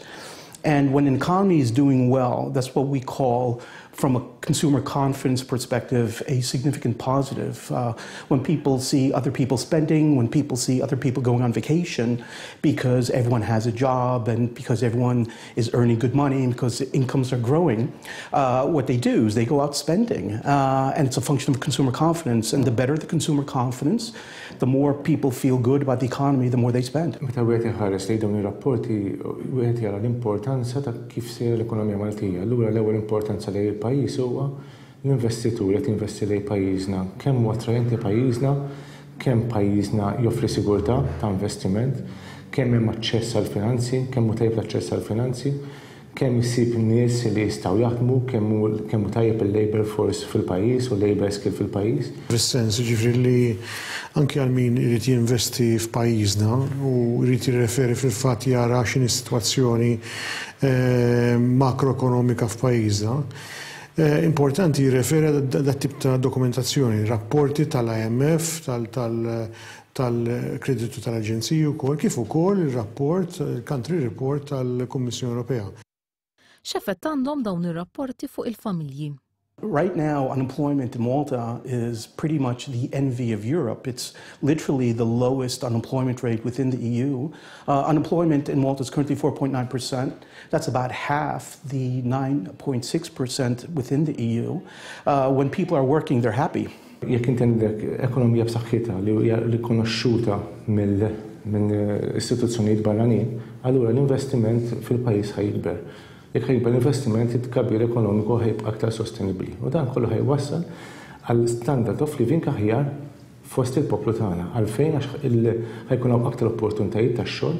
And when an economy is doing well, that's what we call, from a consumer confidence perspective, a significant positive. Uh, when people see other people spending, when people see other people going on vacation because everyone has a job and because everyone is earning good money and because incomes are growing, uh, what they do is they go out spending. Uh, and it's a function of consumer confidence. And the better the consumer confidence, the more people feel good about the economy, the more they spend. Meta wieħed iħares lejn dawn ir-rapporti, wieħed jara l-importanza ta' kif sejra l-ekonomija Maltija. Allura l-ewwel importanza lejn il-pajjiż huwa l-investitur qed jinvesti lejn pajjiżna, kemm huwa attrajenti pajjiżna, kemm pajjiżna joffri sigurtà ta' investiment, kemm hemm aċċess għall finanzi, kemm hu tajjeb l-aċċess għall finanzi, kemm isib nies li jistgħu jaħdmu, kemm hu kemm hu tajjeb il-labor force fil-pajjiż u labor skill fil-pajjiż. Fis-sens, ġifieri li anke għal min irid jinvesti f'pajjiżna u jrid jirreferi fil-fatt jara x'inhi s-sitwazzjoni eh, makroekonomika f'pajjiżna. Eh, importanti jirreferi dat tip ta' dokumentazzjoni, rapporti tal-I M F, tal-kreditu tal-Aġenziji wkoll, kif ukoll il-rapport, il-country report tal-Kummissjoni Ewropea. X'effett għandhom dawn ir-rapporti fuq il-familji? Right now, unemployment in Malta is pretty much the envy of Europe. It's literally the lowest unemployment rate within the E U. Uh, unemployment in Malta is currently four point nine percent. That's about half the nine point six percent within the E U. Uh, when people are working, they're happy. Jekk inti għandek ekonomija b'saħħitha li hija rikonoxxuta mill minn istituzzjonijiet barranin, allura l-investiment fil-pajjiż ħa jikber. Jekk ħa jikber l-investiment, it-tkabbir ekonomiku ħa jibqa' aktar sostenibbli. U dan kollu ħa jwassal għal standard of living aħjar fost il-poplu tagħna. Għalfejn? Għax ħa jkun hawn aktar opportunitajiet tax-xogħol,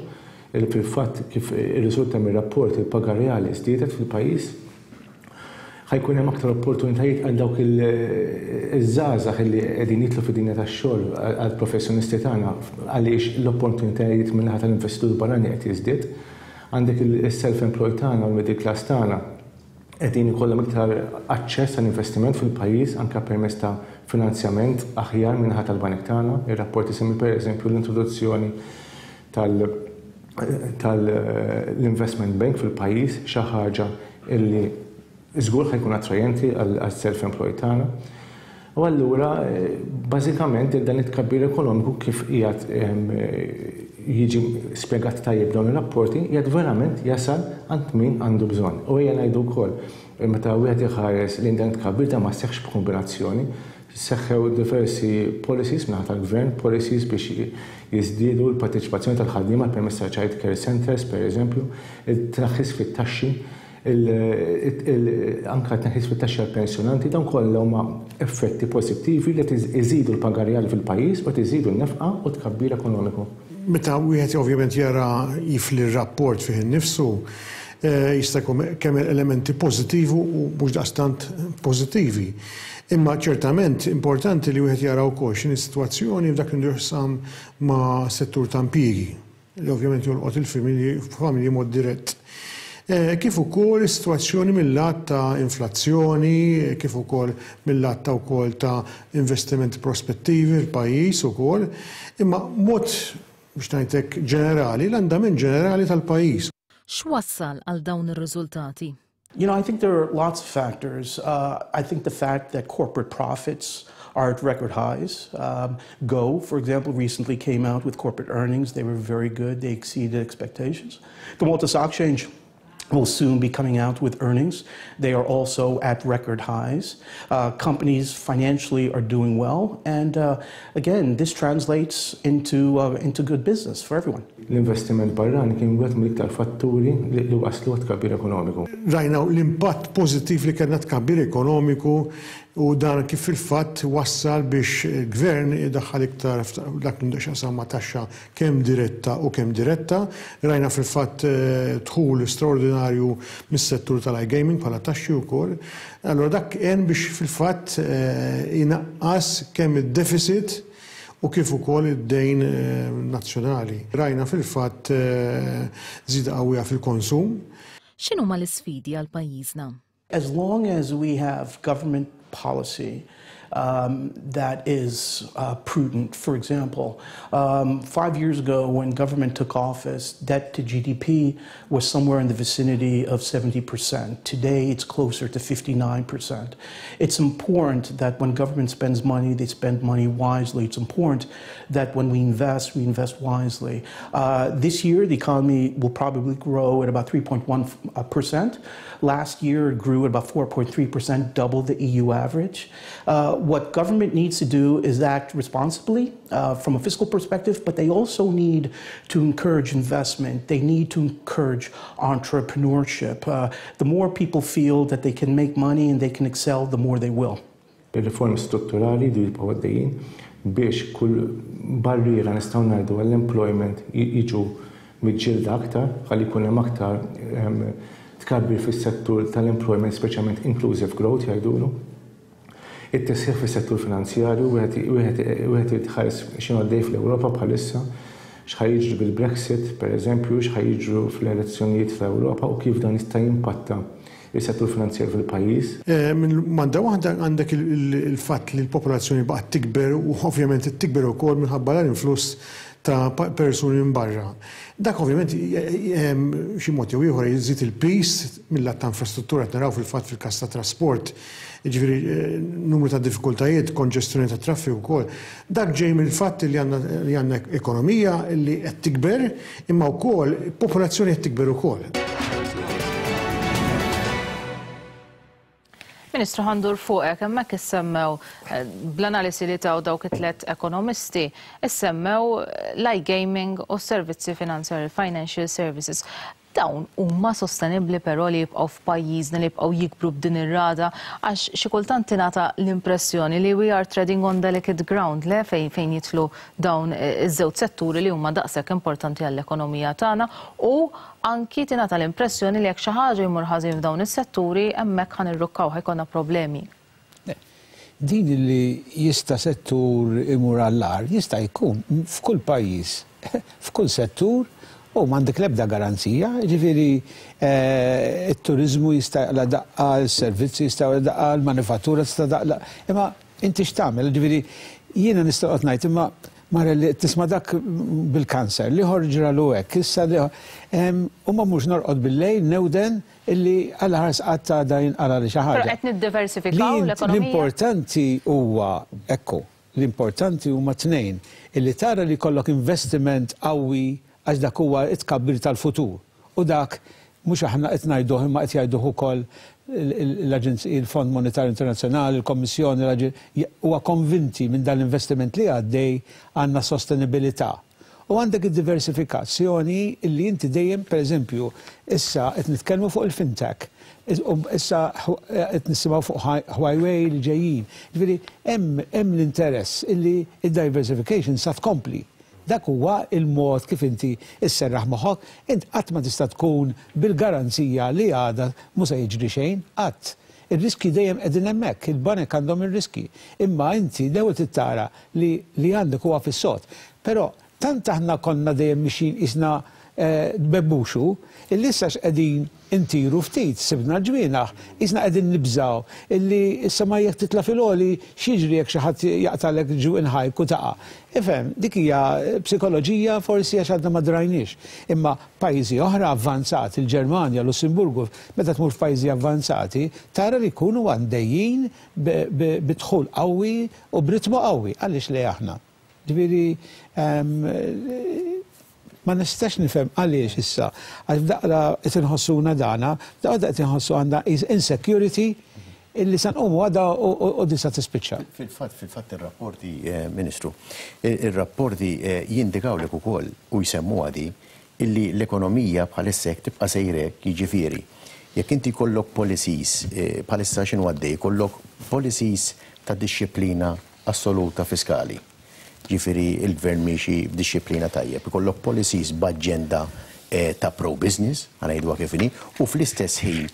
il fil-fatt kif irriżulta mir-rapport il-paga reali żdiedet fil-pajjiż. Ħa jkun hemm aktar opportunitajiet għal dawk iż-żgħażagħ li qegħdin jidħlu fid-dinja tax-xogħol, għal professjonisti tagħna, għaliex l-opportunitajiet min-naħa tal-investitur barrani qed jiżdied. Għandek il-self-employed tagħna u l-middle class tagħna qegħdin ikollhom iktar aċċess għall investiment fil-pajjiż, anke permezz ta' finanzjament aħjar min-naħa tal-banek tagħna. Ir-rapport isemmi, pereżempju, l-introduzzjoni tal tal-investment bank fil-pajjiż, xi ħaġa illi żgur ħa jkun attrajenti għal self-employed tagħna. U allura bażikament dan it-tkabbir ekonomiku, kif qiegħed jiġi spjegat tajjeb dawn ir-rapporti, qiegħed verament jasal għand min għandu bżonn. U ejja ngħidu wkoll, meta wieħed iħares lejn dan it-tkabbir, dan ma seħħx b'kombinazzjoni, seħħew diversi policies min-naħa tal-gvern, policies biex jiżdiedu l-parteċipazzjoni tal-ħaddiema permezz ta' child care centers, per eżempju, il-tnaqqis fit-taxxi, anka tnaqqis fit-taxxi għal-pensjonanti, dawn kollha huma effetti pożittivi li iżidu l-paga reali fil-pajjiż u iżidu n-nefqa u tkabbir ekonomiku. Meta wieħed ovvjament jara jifli r-rapport fih innifsu, eh, jista' jkun kemm elementi pożittivi u mhux daqstant pożittivi. Imma ċertament importanti li wieħed jara wkoll x'inhi sitwazzjoni f'dak li jaqsam ma' settur ta' impjiegi, li ovvjament jolqot il-familji familji mod dirett. Eh, kif ukoll is-sitwazzjoni mill-lat ta' inflazzjoni, kif ukoll mill-lat ta' wkoll ta' investimenti prospettivi fil-pajjiż ukoll, imma mod biex ngħidlek ġenerali, l-andament ġenerali tal-pajjiż. X'wassal għal dawn ir-riżultati? You know, I think there are lots of factors. Uh, I think the fact that corporate profits are at record highs. Um, Go, for example, recently came out with corporate earnings. They were very good. They exceeded expectations. The Malta Stock Exchange will soon be coming out with earnings. They are also at record highs. Uh, companies financially are doing well, and uh, again, this translates into, uh, into good business for everyone. L-investiment barrani kien wieħed mill-iktar fatturi li li waslu tkabbir ekonomiku. Rajna l-impatt pożittiv li kellna tkabbir ekonomiku u dan kif fil-fatt wassal biex il-gvern idaħħal iktar dak li x'jaqsam ma' taxxa kemm diretta u kemm indiretta. Rajna fil-fatt eh, dħul straordinarju mis-settur tal-iGaming bħala taxxi wkoll. Allora dak għen biex fil-fatt eh, inaqqas kemm id-deficit u kif ukoll id-dejn eh, nazzjonali. Rajna fil-fatt żieda qawwija fil-konsum. X'inhuma l-isfidi għal pajjiżna? As long as we have government policy um, that is uh, prudent. For example, um, five years ago when government took office, debt to G D P was somewhere in the vicinity of seventy percent. Today it's closer to fifty-nine percent. It's important that when government spends money, they spend money wisely. It's important that when we invest, we invest wisely. Uh, this year, the economy will probably grow at about three point one percent. Last year, it grew at about four point three percent, double the E U average. Uh, what government needs to do is act responsibly uh, from a fiscal perspective, but they also need to encourage investment. They need to encourage entrepreneurship. Uh, the more people feel that they can make money and they can excel, the more they will. Il-riformi strutturali jridu jibqgħu għaddejjin biex kull barriera, nistgħu ngħidu, għall-employment jiġu miġġielda aktar, ħalli jkun hemm aktar tkabbir fis-settur tal-employment, speċjalment inclusive growth jgħidulu. It-tisħiħ fis-settur finanzjarju, wieħed irid iħares x'inhu għaddej fl-Ewropa bħalissa, x'ħa jiġri bil-Brexit, per eżempju, x'ħa jiġru fl-elezzjonijiet fl-Ewropa u kif dan jista' jimpatta il-settur finanzjarju fil-pajjiż. Eh, minn banda waħda għandek il-fatt li l-popolazzjoni baqgħet tikber u ovvjament tikber ukoll minħabba l-influss ta' persuni minn barra. Dak ovvjament xi mod jew ieħor jżid il-piż mill-lat ta' infrastruttura, qed naraw fil-fatt fil-każ ta' trasport, jiġifieri eh, numru ta' diffikultajiet, konġestjoni ta' traffiku wkoll. Dak ġej mill-fatt li għandna ekonomija li qed tikber, imma wkoll popolazzjoni qed tikber ukoll. Ministru, ħa ndur fuqek, hemmhekk issemmew eh, bl-analisi li taw dawk it-tlet ekonomisti, issemmew l-iGaming u servizzi finanzjari, financial services. Dawn huma sostenibbli però li jibqgħu f'pajjiżna, li jibqgħu jikbru b'din ir-rata, għax xi kultant tingħata l-impressjoni li we are treading on delicate ground le fejn fejn jidħlu dawn iż-żewġ setturi li huma daqshekk importanti għall-ekonomija tagħna, u anki tingħata l-impressjoni li jekk xi ħaġa jmur ħażin f'dawn is-setturi, hemmhekk ħa nirrukkaw, ħa jkollna problemi. Din li jista' settur imur għall-agħar, jista' jkun f'kull pajjiż, f'kull settur, u m'għandek l-ebda garanzija, ġifieri it-turizmu jista' jaqla' daqqa, il-servizzi jista' jaqla' daqqa, il-manifattura tista' daqla. Imma inti x'tagħmel? Ġifieri jiena nista' noqgħod ngħid, imma mara li tisma' dak bil-kanser, li ġralu hekk, issa li u ma mhux norqod bil-lejl newden illi għal ħars qatt għada jinqala li xi ħaġa. Però qed niddiversifikaw l-ekonomija. L-importanti huwa, ekku, l-importanti huma tnejn, illi tara li jkollok investiment qawwi, għax dak huwa it-tkabbir tal-futur. U dak mhux aħna qed ngħiduh, imma qed jgħiduh ukoll l-Aġenzija, il-Fond Monetarju Internazzjonali, il-Kommissjoni, huwa konvinti minn dan l-investiment li għaddej għandna sostenibilità. U għandek id-diversifikazzjoni illi inti dejjem, per eżempju, issa qed nitkellmu fuq il-fintech, issa qed nisimgħu fuq Huawei li ġejjin. Ġifieri hemm l-interess illi id-diversification sa tkompli. Dak huwa il-mod kif inti isserraħ moħħok, int qatt ma tista' tkun bil-garanzija li għada mhux se jiġri xejn, qatt. Ir-riski dejjem qegħdin hemmhekk, il-banek għandhom ir-riski. Imma inti l-ewwel tittara li li għandek huwa fis-sod. Però tant aħna konna dejjem mixin isna bebbuxu, illi issa x'qegħdin intiru ftit, sibna ġwienaħ, isna qegħdin nibżaw, illi issa ma jekk titla' fil-għoli x'jiġri jekk xi ħadd jaqtalek ġwinħajk u taqa'. Ifhem, dik hija psikoloġija forsi għax għadna ma drajniex. Imma pajjiżi oħra avvanzati, il-Ġermanja, Lussemburgu, meta tmur f'pajjiżi avvanzati, tara li jkunu għandejjin bi dħul qawwi u b'ritmu qawwi, għaliex le aħna. Ġifieri ma nistax nifhem għaliex issa, għax f'daqqa qed inħossuna dana, f'daqqa qed inħossu għandna insecurity illi sa nqumu għada u disa tispiċċa. Fil-fatt, fil-fatt ir-rapporti, Ministru, ir-rapporti jindikawlek ukoll u jsemmu għadi illi l-ekonomija bħalissa jekk tibqa' sejrek, jiġifieri, jekk inti jkollok policies, bħalissa x'inhu għaddej, jkollok policies ta' dixxiplina assoluta fiskali. Ġifieri il-gvern miexi b'dixxiplina tajjeb, ikollok policies b'aġenda ta' pro-business, ħa ngħiduha kif inhi, u fl-istess ħin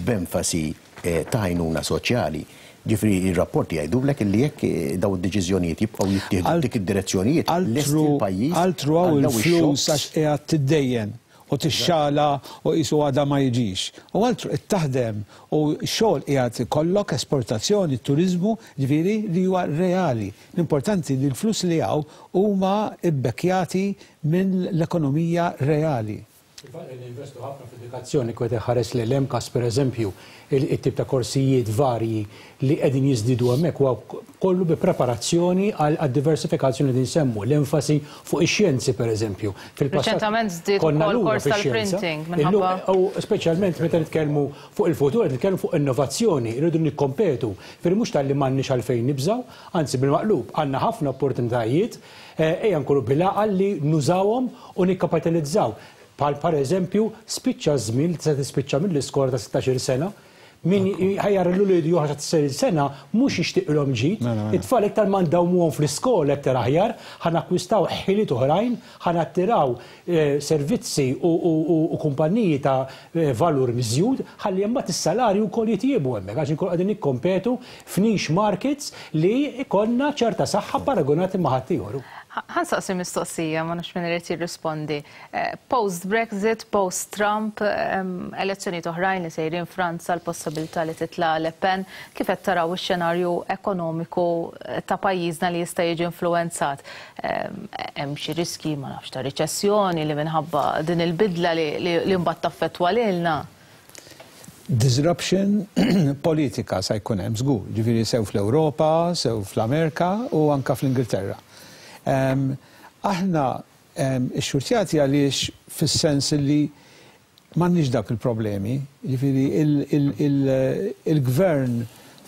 b'enfasi ta' għajnuna soċjali. Ġifieri ir-rapporti jgħidulek illi jekk daw id-deċiżjonijiet jibqgħu jittieħdu dik id-direzzjonijiet, lesti l-pajjiż Altru hawn il-flus għax qiegħed tiddejjen u tixxala u qisu għada ma jiġix. U altru qed taħdem u x-xogħol qiegħed ikollok esportazzjoni, turiżmu, ġifieri li huwa reali. L-importanti li l-flus li hawn huma bbekkjati minn l-ekonomija reali. Il-fatt li ninvestu ħafna fl-edukazzjoni, kwet ħares li l-M C A S per eżempju, il-tip ta' korsijiet varji li qegħdin jiżdiedu hemmhekk huwa kollu bi preparazzjoni għal diversifikazzjoni li nsemmu, l-enfasi fuq ix-xjenzi per eżempju. Fil-passat Reċentament żdied konna ukoll lura kors fix-xjenza. tal-printing Illum, minħabba u speċjalment meta nitkellmu fuq il-futur, qed nitkellmu fuq innovazzjoni, irridu nikkompetu. Firri mhux talli m'għandniex għalfejn nibżgħu, anzi bil-maqlub, għandna ħafna opportunitajiet, eh, ejja nkunu bil-għaqal li nużawhom u nikkapitalizzaw. Bħal par eżempju, spiċċa żmien li se tispiċċa mill-iskola ta' sittax-il sena, min ħajjar l-ulied joħroġ ta' sittax-il sena mhux jixtieqilhom ġid, it-tfal iktar ma ndawmuhom fl-iskola iktar aħjar, ħa nakkwistaw ħiliet oħrajn, ħa nattiraw, eh, servizzi u, u, u, u kumpanniji ta' eh, valur miżjud, ħalli imbagħad is-salarju wkoll jitjiebu hemmhekk, għax inkunu qegħdin nikkompetu f'niche markets li ikollna ċerta saħħa paragonati ma' ħaddieħor. Ħa nsaqsi mistoqsija, ma nafx min irid jirrispondi. Eh, Post-Brexit, post-Trump, ehm, elezzjonijiet oħrajn li sejrin Franza, l-possibilità li titla' Le Pen, kif qed taraw ix-xenarju ekonomiku ta' pajjiżna li jista' jiġi influwenzat? Ehm, hemm xi riski, ma nafx, ta' riċessjoni li minħabba din il-bidla li, li, li mbagħad taffettwa lilna? Disruption politika sa jkun hemm żgur, ġifieri sew fl-Ewropa, sew fl-Amerika u anka fl-Ingilterra. Em, aħna em, ixxurtjati għaliex fis-sens li m'għandniex dak il-problemi, ġifieri il-gvern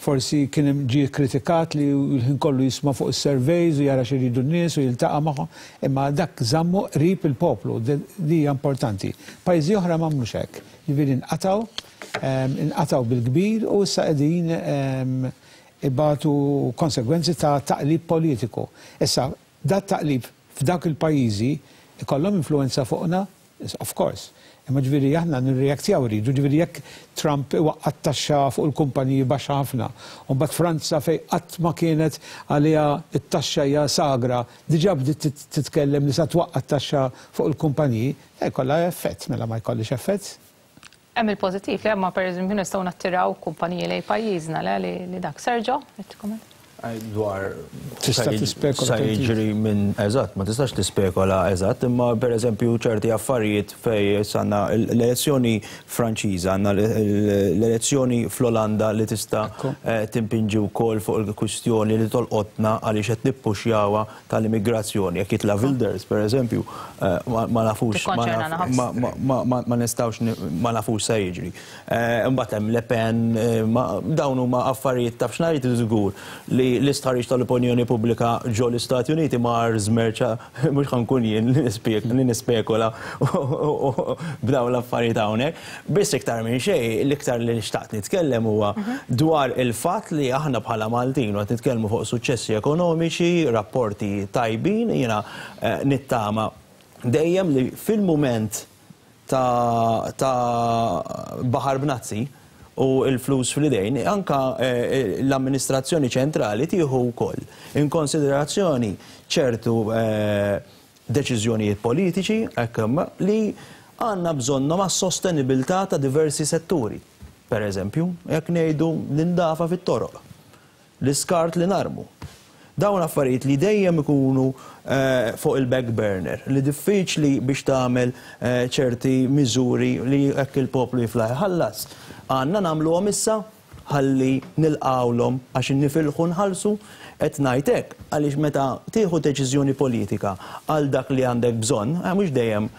Forsi kien ġie kritikat li l-ħin kollu jisma' fuq is-surveys u jara x'iridu n-nies u jiltaqa' magħhom, imma dak żammu qrib il-poplu, li hija importanti. Pajjiżi oħra m'għamlux hekk. Jiġifieri nqatgħu, inqatgħu bil-kbir u issa qegħdin ibatu konsegwenzi ta' taqlib politiku. Issa, dat taqlib f'dawk il-pajjiżi ikollhom influenza fuqna, of course. Imma ġifieri aħna nirreaktjaw rridu, ġifieri jekk Trump iwaqqa' t-taxxa fuq il-kumpaniji baxxa ħafna, u mbagħad Franza fejn qatt ma kienet għaliha t-taxxa hija sagra, diġà bdiet titkellem li sa twaqqa' t-taxxa fuq il-kumpaniji, jkollha effett, mela ma jkollix effett. Hemm il-pożittiv li hemm pereżempju nistgħu nattiraw kumpaniji lejn pajjiżna li dak. Sergio, qed Dwar tista' tispekola jiġri minn eżatt, ma tistax tispekola eżatt, imma pereżempju ċerti affarijiet fej għandna l-elezzjoni Franċiża, għandna l-elezzjoni fl-Olanda li tista' timpinġi wkoll fuq il-kwistjoni li tolqotna għaliex qed nippuxjawha tal-immigrazzjoni. Jekk jitla' Wilders pereżempju, ma nafux ma nistgħux ma nafux se jiġri. Imbagħad hemm Le Pen, dawn huma affarijiet taf x'ngħid żgur li l-istħarriġ tal-opinjoni pubblika ġo l-Istati Uniti mar żmerċa, mhux ħankun jien li nispekola b'dawn l-affarijiet hawnhekk. Biss iktar minn xejn, l-iktar li xtaqt nitkellem huwa dwar il-fatt li aħna bħala Maltin qed nitkellmu fuq suċċessi ekonomiċi, rapporti tajbin, jiena nittama dejjem li fil-mument ta' baħar b'nazzi u l-flus fl-idejn, anka l-amministrazzjoni ċentrali tieħu wkoll in konsiderazzjoni ċertu deċiżjonijiet politiċi hekk li għandna bżonnhom għas-sostenibilità ta' diversi setturi. Per eżempju, jekk ngħidu l-indafa fit-toroq, l-iskart li narmu. Dawn affarijiet li dejjem ikunu fuq il-back burner, li diffiċli biex tagħmel ċerti miżuri li hekk il-poplu jiflaħ ħallas. Għandna nagħmluhom issa ħalli nilqawlhom għax nifilħu nħallsu, qed ngħid hekk għaliex meta tieħu deċiżjoni politika għal dak li għandek bżonn, mhux dejjem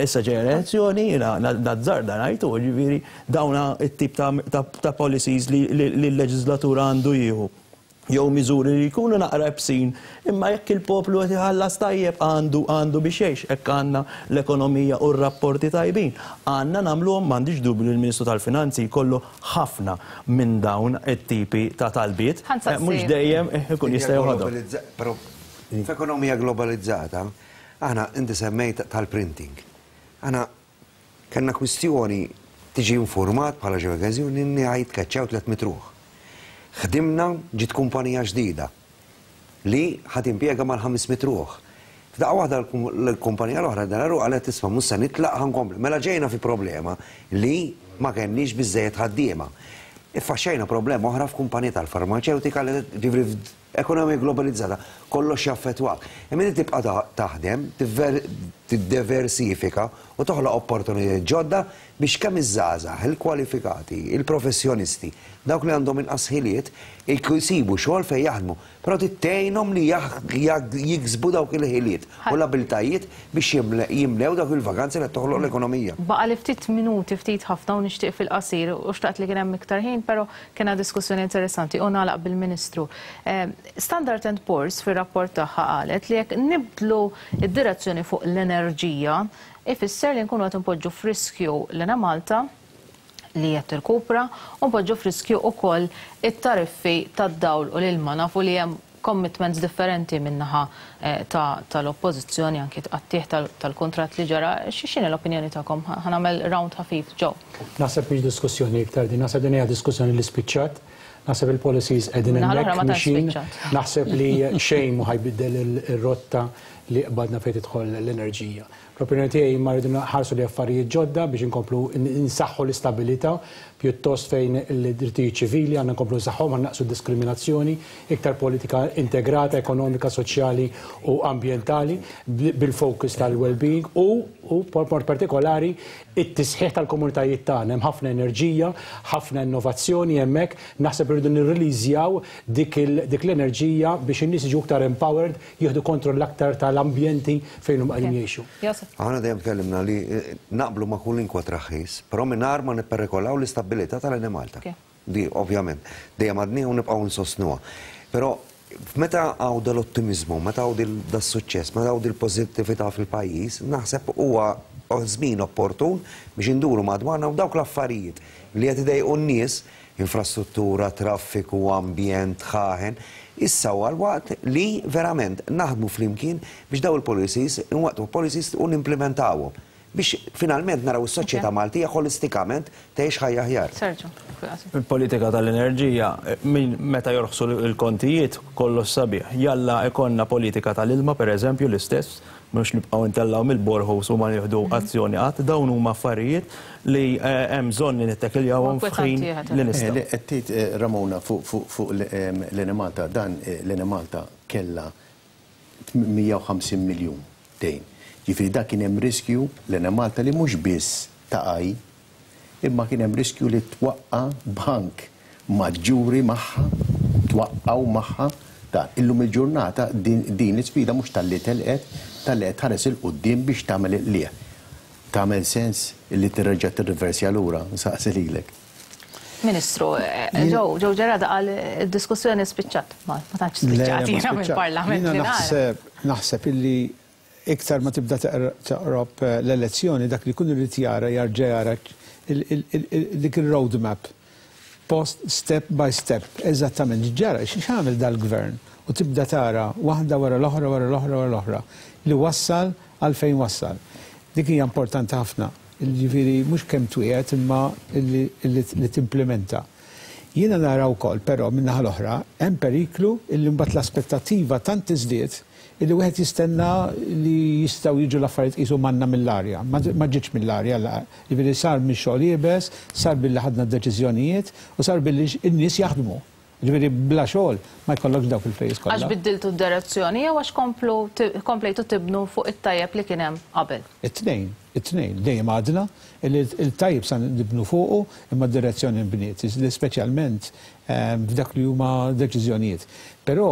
issa ġejja elezzjoni, jiena nazzarda ngħid, jiġifieri dawn it-tip ta' policies li l-leġislatura għandu jieħu. Jew miżuri li jkunu naqra bsin, imma jekk il-poplu qed iħallas tajjeb għandu għandu biex jgħix, hekk għandna l-ekonomija u r-rapporti tajbin. Għandna nagħmluhom, m'għandix dubju li l-Ministru tal-Finanzi jkollu ħafna minn dawn it-tipi ta' talbiet, mhux dejjem ikun jista' joħodhom. Però f'ekonomija globalizzata, aħna inti semmejt tal-printing. Aħna kellna kwistjoni tiġi informat bħala ġewwa inni ħajtkaċċjaw tliet mitt ruħ. Ħdimna ġiet kumpanija ġdida li ħad impjega mal-ħames mitt ruħ. F'daqqa waħda l-kumpanija l-oħra dararu qalet isma' mhux se nitlaq ħankompli. Mela ġejna fi problema li ma kenniex biżejjed ħaddiema. Iffaxxejna problema oħra f'kumpanija tal-farmaċewtika li ġifri ekonomija globalizzata kollox jaffettwak. Imma inti tibqa' taħdem, tiddiversifika u toħloq opportunitajiet ġodda biex kemm iż-żgħażagħ, il-kwalifikati, il-professjonisti, dawk li għandhom inqas ħiliet jsibu xogħol fejn jaħdmu, però tgħinhom li jiksbu dawk il-ħiliet u l-abilitajiet biex jimlew dawk il-vaganzi li toħloq l-ekonomija. Baqa' li ftit minuti, ftit ħafna u nixtieq fil-qasir u xtaqt li kien hemm iktar ħin, però kena diskussjoni interessanti u nagħlaq bil-Ministru. Standard and Poor's fir-rapport tagħha qalet li jekk nibdlu id-direzzjoni fuq l-enerġija, ifisser li nkunu qed npoġġu f'riskju l-Enemalta li qed tirkupra u npoġġu f'riskju wkoll it-tariffi tad-dawl u l-ilma. Nafu li hemm commitments differenti min-naħa tal-oppożizzjoni anki tqattih tal-kuntratt li ġara. X'inhi l-opinjoni tagħkom? Ħa nagħmel round ħafif ġew. Naħseb mhix diskussjoni iktar din, naħseb din hija diskussjoni li spiċċat. Naħseb il-policies qegħdin hemmhekk mixin. Naħseb li xejn mhu ħajbiddel ir-rotta li qbadna fejn tidħol l-enerġija. L-opinjoni tiegħi ma rridu nħarsu li affarijiet ġodda biex inkomplu nsaħħu l-istabilità, pjuttost fejn il-drittijiet ċivili għandna nkomplu nsaħħuhom, għandna naqsu diskriminazzjoni, iktar politika integrata, ekonomika, soċjali u ambjentali bil-focus tal-well-being u b'mod partikolari it-tisħiħ tal-komunitajiet tagħna. Hemm ħafna enerġija, ħafna innovazzjoni hemmhekk, naħseb irridu nirriliżjaw dik l-enerġija biex in-nies jiġu iktar empowered, jieħdu kontroll aktar tal-ambjenti fejn huma qegħdin jgħixu. Aħna dejjem tkellimna li naqblu ma' kull inkwa traħħis, però mingħajr ma nipperikolaw l-istabilità tal-Enemalta. Di ovvjament dejjem għadni u nibqgħu nsostnuha. Però meta hawn dal-ottimizmu, meta hawn das-suċċess, meta hawn dil-pożittività fil-pajjiż, naħseb huwa żmien opportun biex induru madwarna u dawk l-affarijiet li qed idejqu n-nies, infrastruttura, traffiku, ambjent, ħaħen, issa huwa l-waqt li verament naħdmu flimkien biex daw il-policies, inwaqqtu policies u nimplementawhom biex finalment naraw is-soċjetà Maltija ħolistikament tgħix ħajja aħjar. Sergio. Il-politika tal-enerġija, min meta jorħsu l-kontijiet kollox sabiħ. Jalla ikonna politika tal-ilma per eżempju l-istess, mhux nibqgħu ntellgħu mill-boreholes u ma nieħdu azzjoni qatt, dawn huma affarijiet li hemm bżonn li nittekiljawhom f'ħin li nistgħu. Qed tgħid Ramona fuq l-Enemalta, dan l-Enemalta kellha mija u ħamsin miljun dejn. Ġifieri dak kien hemm riskju l-Enemalta li mhux biss taqaj, imma kien hemm riskju li twaqqa' bank maġġuri magħha, twaqqgħu magħha. Dan illum il-ġurnata din l-isfida mhux talli telqet, talli qed tħares il quddiem biex tagħmel il-qliegħ. Tagħmel sens li tirreġa' tirriversja lura, nsaqsi lilek. Ministru, Joe Gerada qal id-diskussjoni spiċċat, ma tantx spiċċat jiena mill-Parlament. Jiena naħseb naħseb illi iktar ma tibda taqrob l-elezzjoni, dak li kun irid jara jarġa' jara dik il-roadmap, post step by step, eżattament ġara x'għamel dal-gvern u tibda tara waħda wara l-oħra wara l-oħra wara l-oħra li wassal għal fejn wassal. Dik hija importanti ħafna, jiġifieri mhux kemm twiegħed imma li timplementa. Jiena nara wkoll però min-naħa l-oħra hemm periklu illi mbagħad l-aspettattiva tant tiżdied illi wieħed jistenna li jistgħu jiġu l-affarijiet qisu manna mill-arja. Ma ġietx mill-arja, jiġifieri sar mix-xogħol iebes, sar billi ħadna d-deċiżjonijiet u sar billi n-nies jaħdmu. Ġifieri bla xogħol ma jkollokx dawk il-flejjes kollha. Għax biddiltu d-direzzjoni jew għax komplu komplejtu tibnu fuq it-tajjeb li kien hemm qabel? It-tnejn, it-tnejn. Dejjem għadna li l-tajjeb sa nibnu fuqu imma d-direzzjoni nbniet, speċjalment f'dak li huma deċiżjonijiet. Però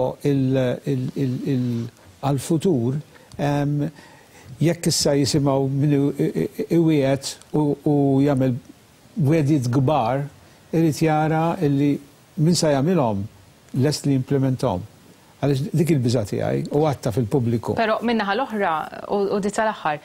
għal-futur jekk issa jisimgħu min iwiegħed u jagħmel wegħdiet kbar, irid jara li min sa jagħmilhom lest li jimplementhom. Għaliex dik il-biża' tiegħi u għatta fil-pubbliku. Però min-naħa l-oħra u di tal-aħħar,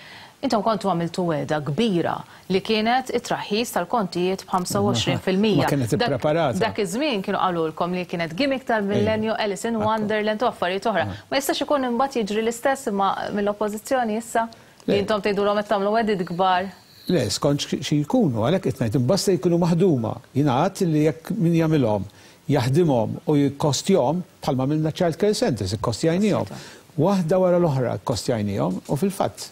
intom kontu għamiltu wegħda kbira li kienet it-traħħis tal-kontijiet b'ħamsa u għoxrin fil-mija. Ma kienet ippreparata. Dak iż-żmien kienu qalulkom li kienet gimmick tal-millenju, Alice in Wonderland u affarijiet oħra. Ma jistax ikun imbagħad jiġri l-istess imma mill-oppożizzjoni issa li intom tgħidulhom qed tagħmlu wegħdiet kbar. Le, skont xi jkunu, għalhekk qed ngħid imbasta jkunu maħduma. Jingħad li jekk min jagħmilhom jaħdimhom u jikkostjahom bħalma għamilna child care centers, ikkostjajnihom. Waħda wara l-oħra kkostjajnihom u fil-fatt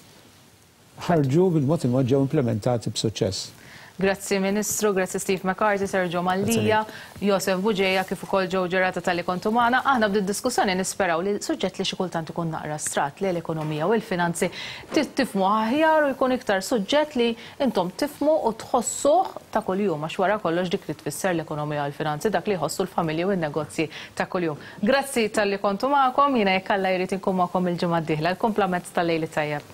ħarġu bil-mod il-mod ġew implementati b'suċċess. Grazzi Ministru, grazzi Steve McCarthy, Sergio Mallia, Josef Bugeja, kif ukoll Joe Gerada talli kontu magħna. Aħna b'din diskussjoni nisperaw li suġġett li xi kultant ikun naqra strat li l-ekonomija u l-finanzi tifhmu aħjar u jkun iktar suġġett li intom tifhmu u tħossuh ta' kuljum, għax wara kollox dik li tfisser l-ekonomija u l-finanzi, dak li jħossu l-familji u n-negozji ta' kuljum. Grazzi talli kontu magħkom, jiena jekk Alla jrid inkun magħkom il-ġimgħa d-dieħla. Il-kumplament tal-lejli tajjeb.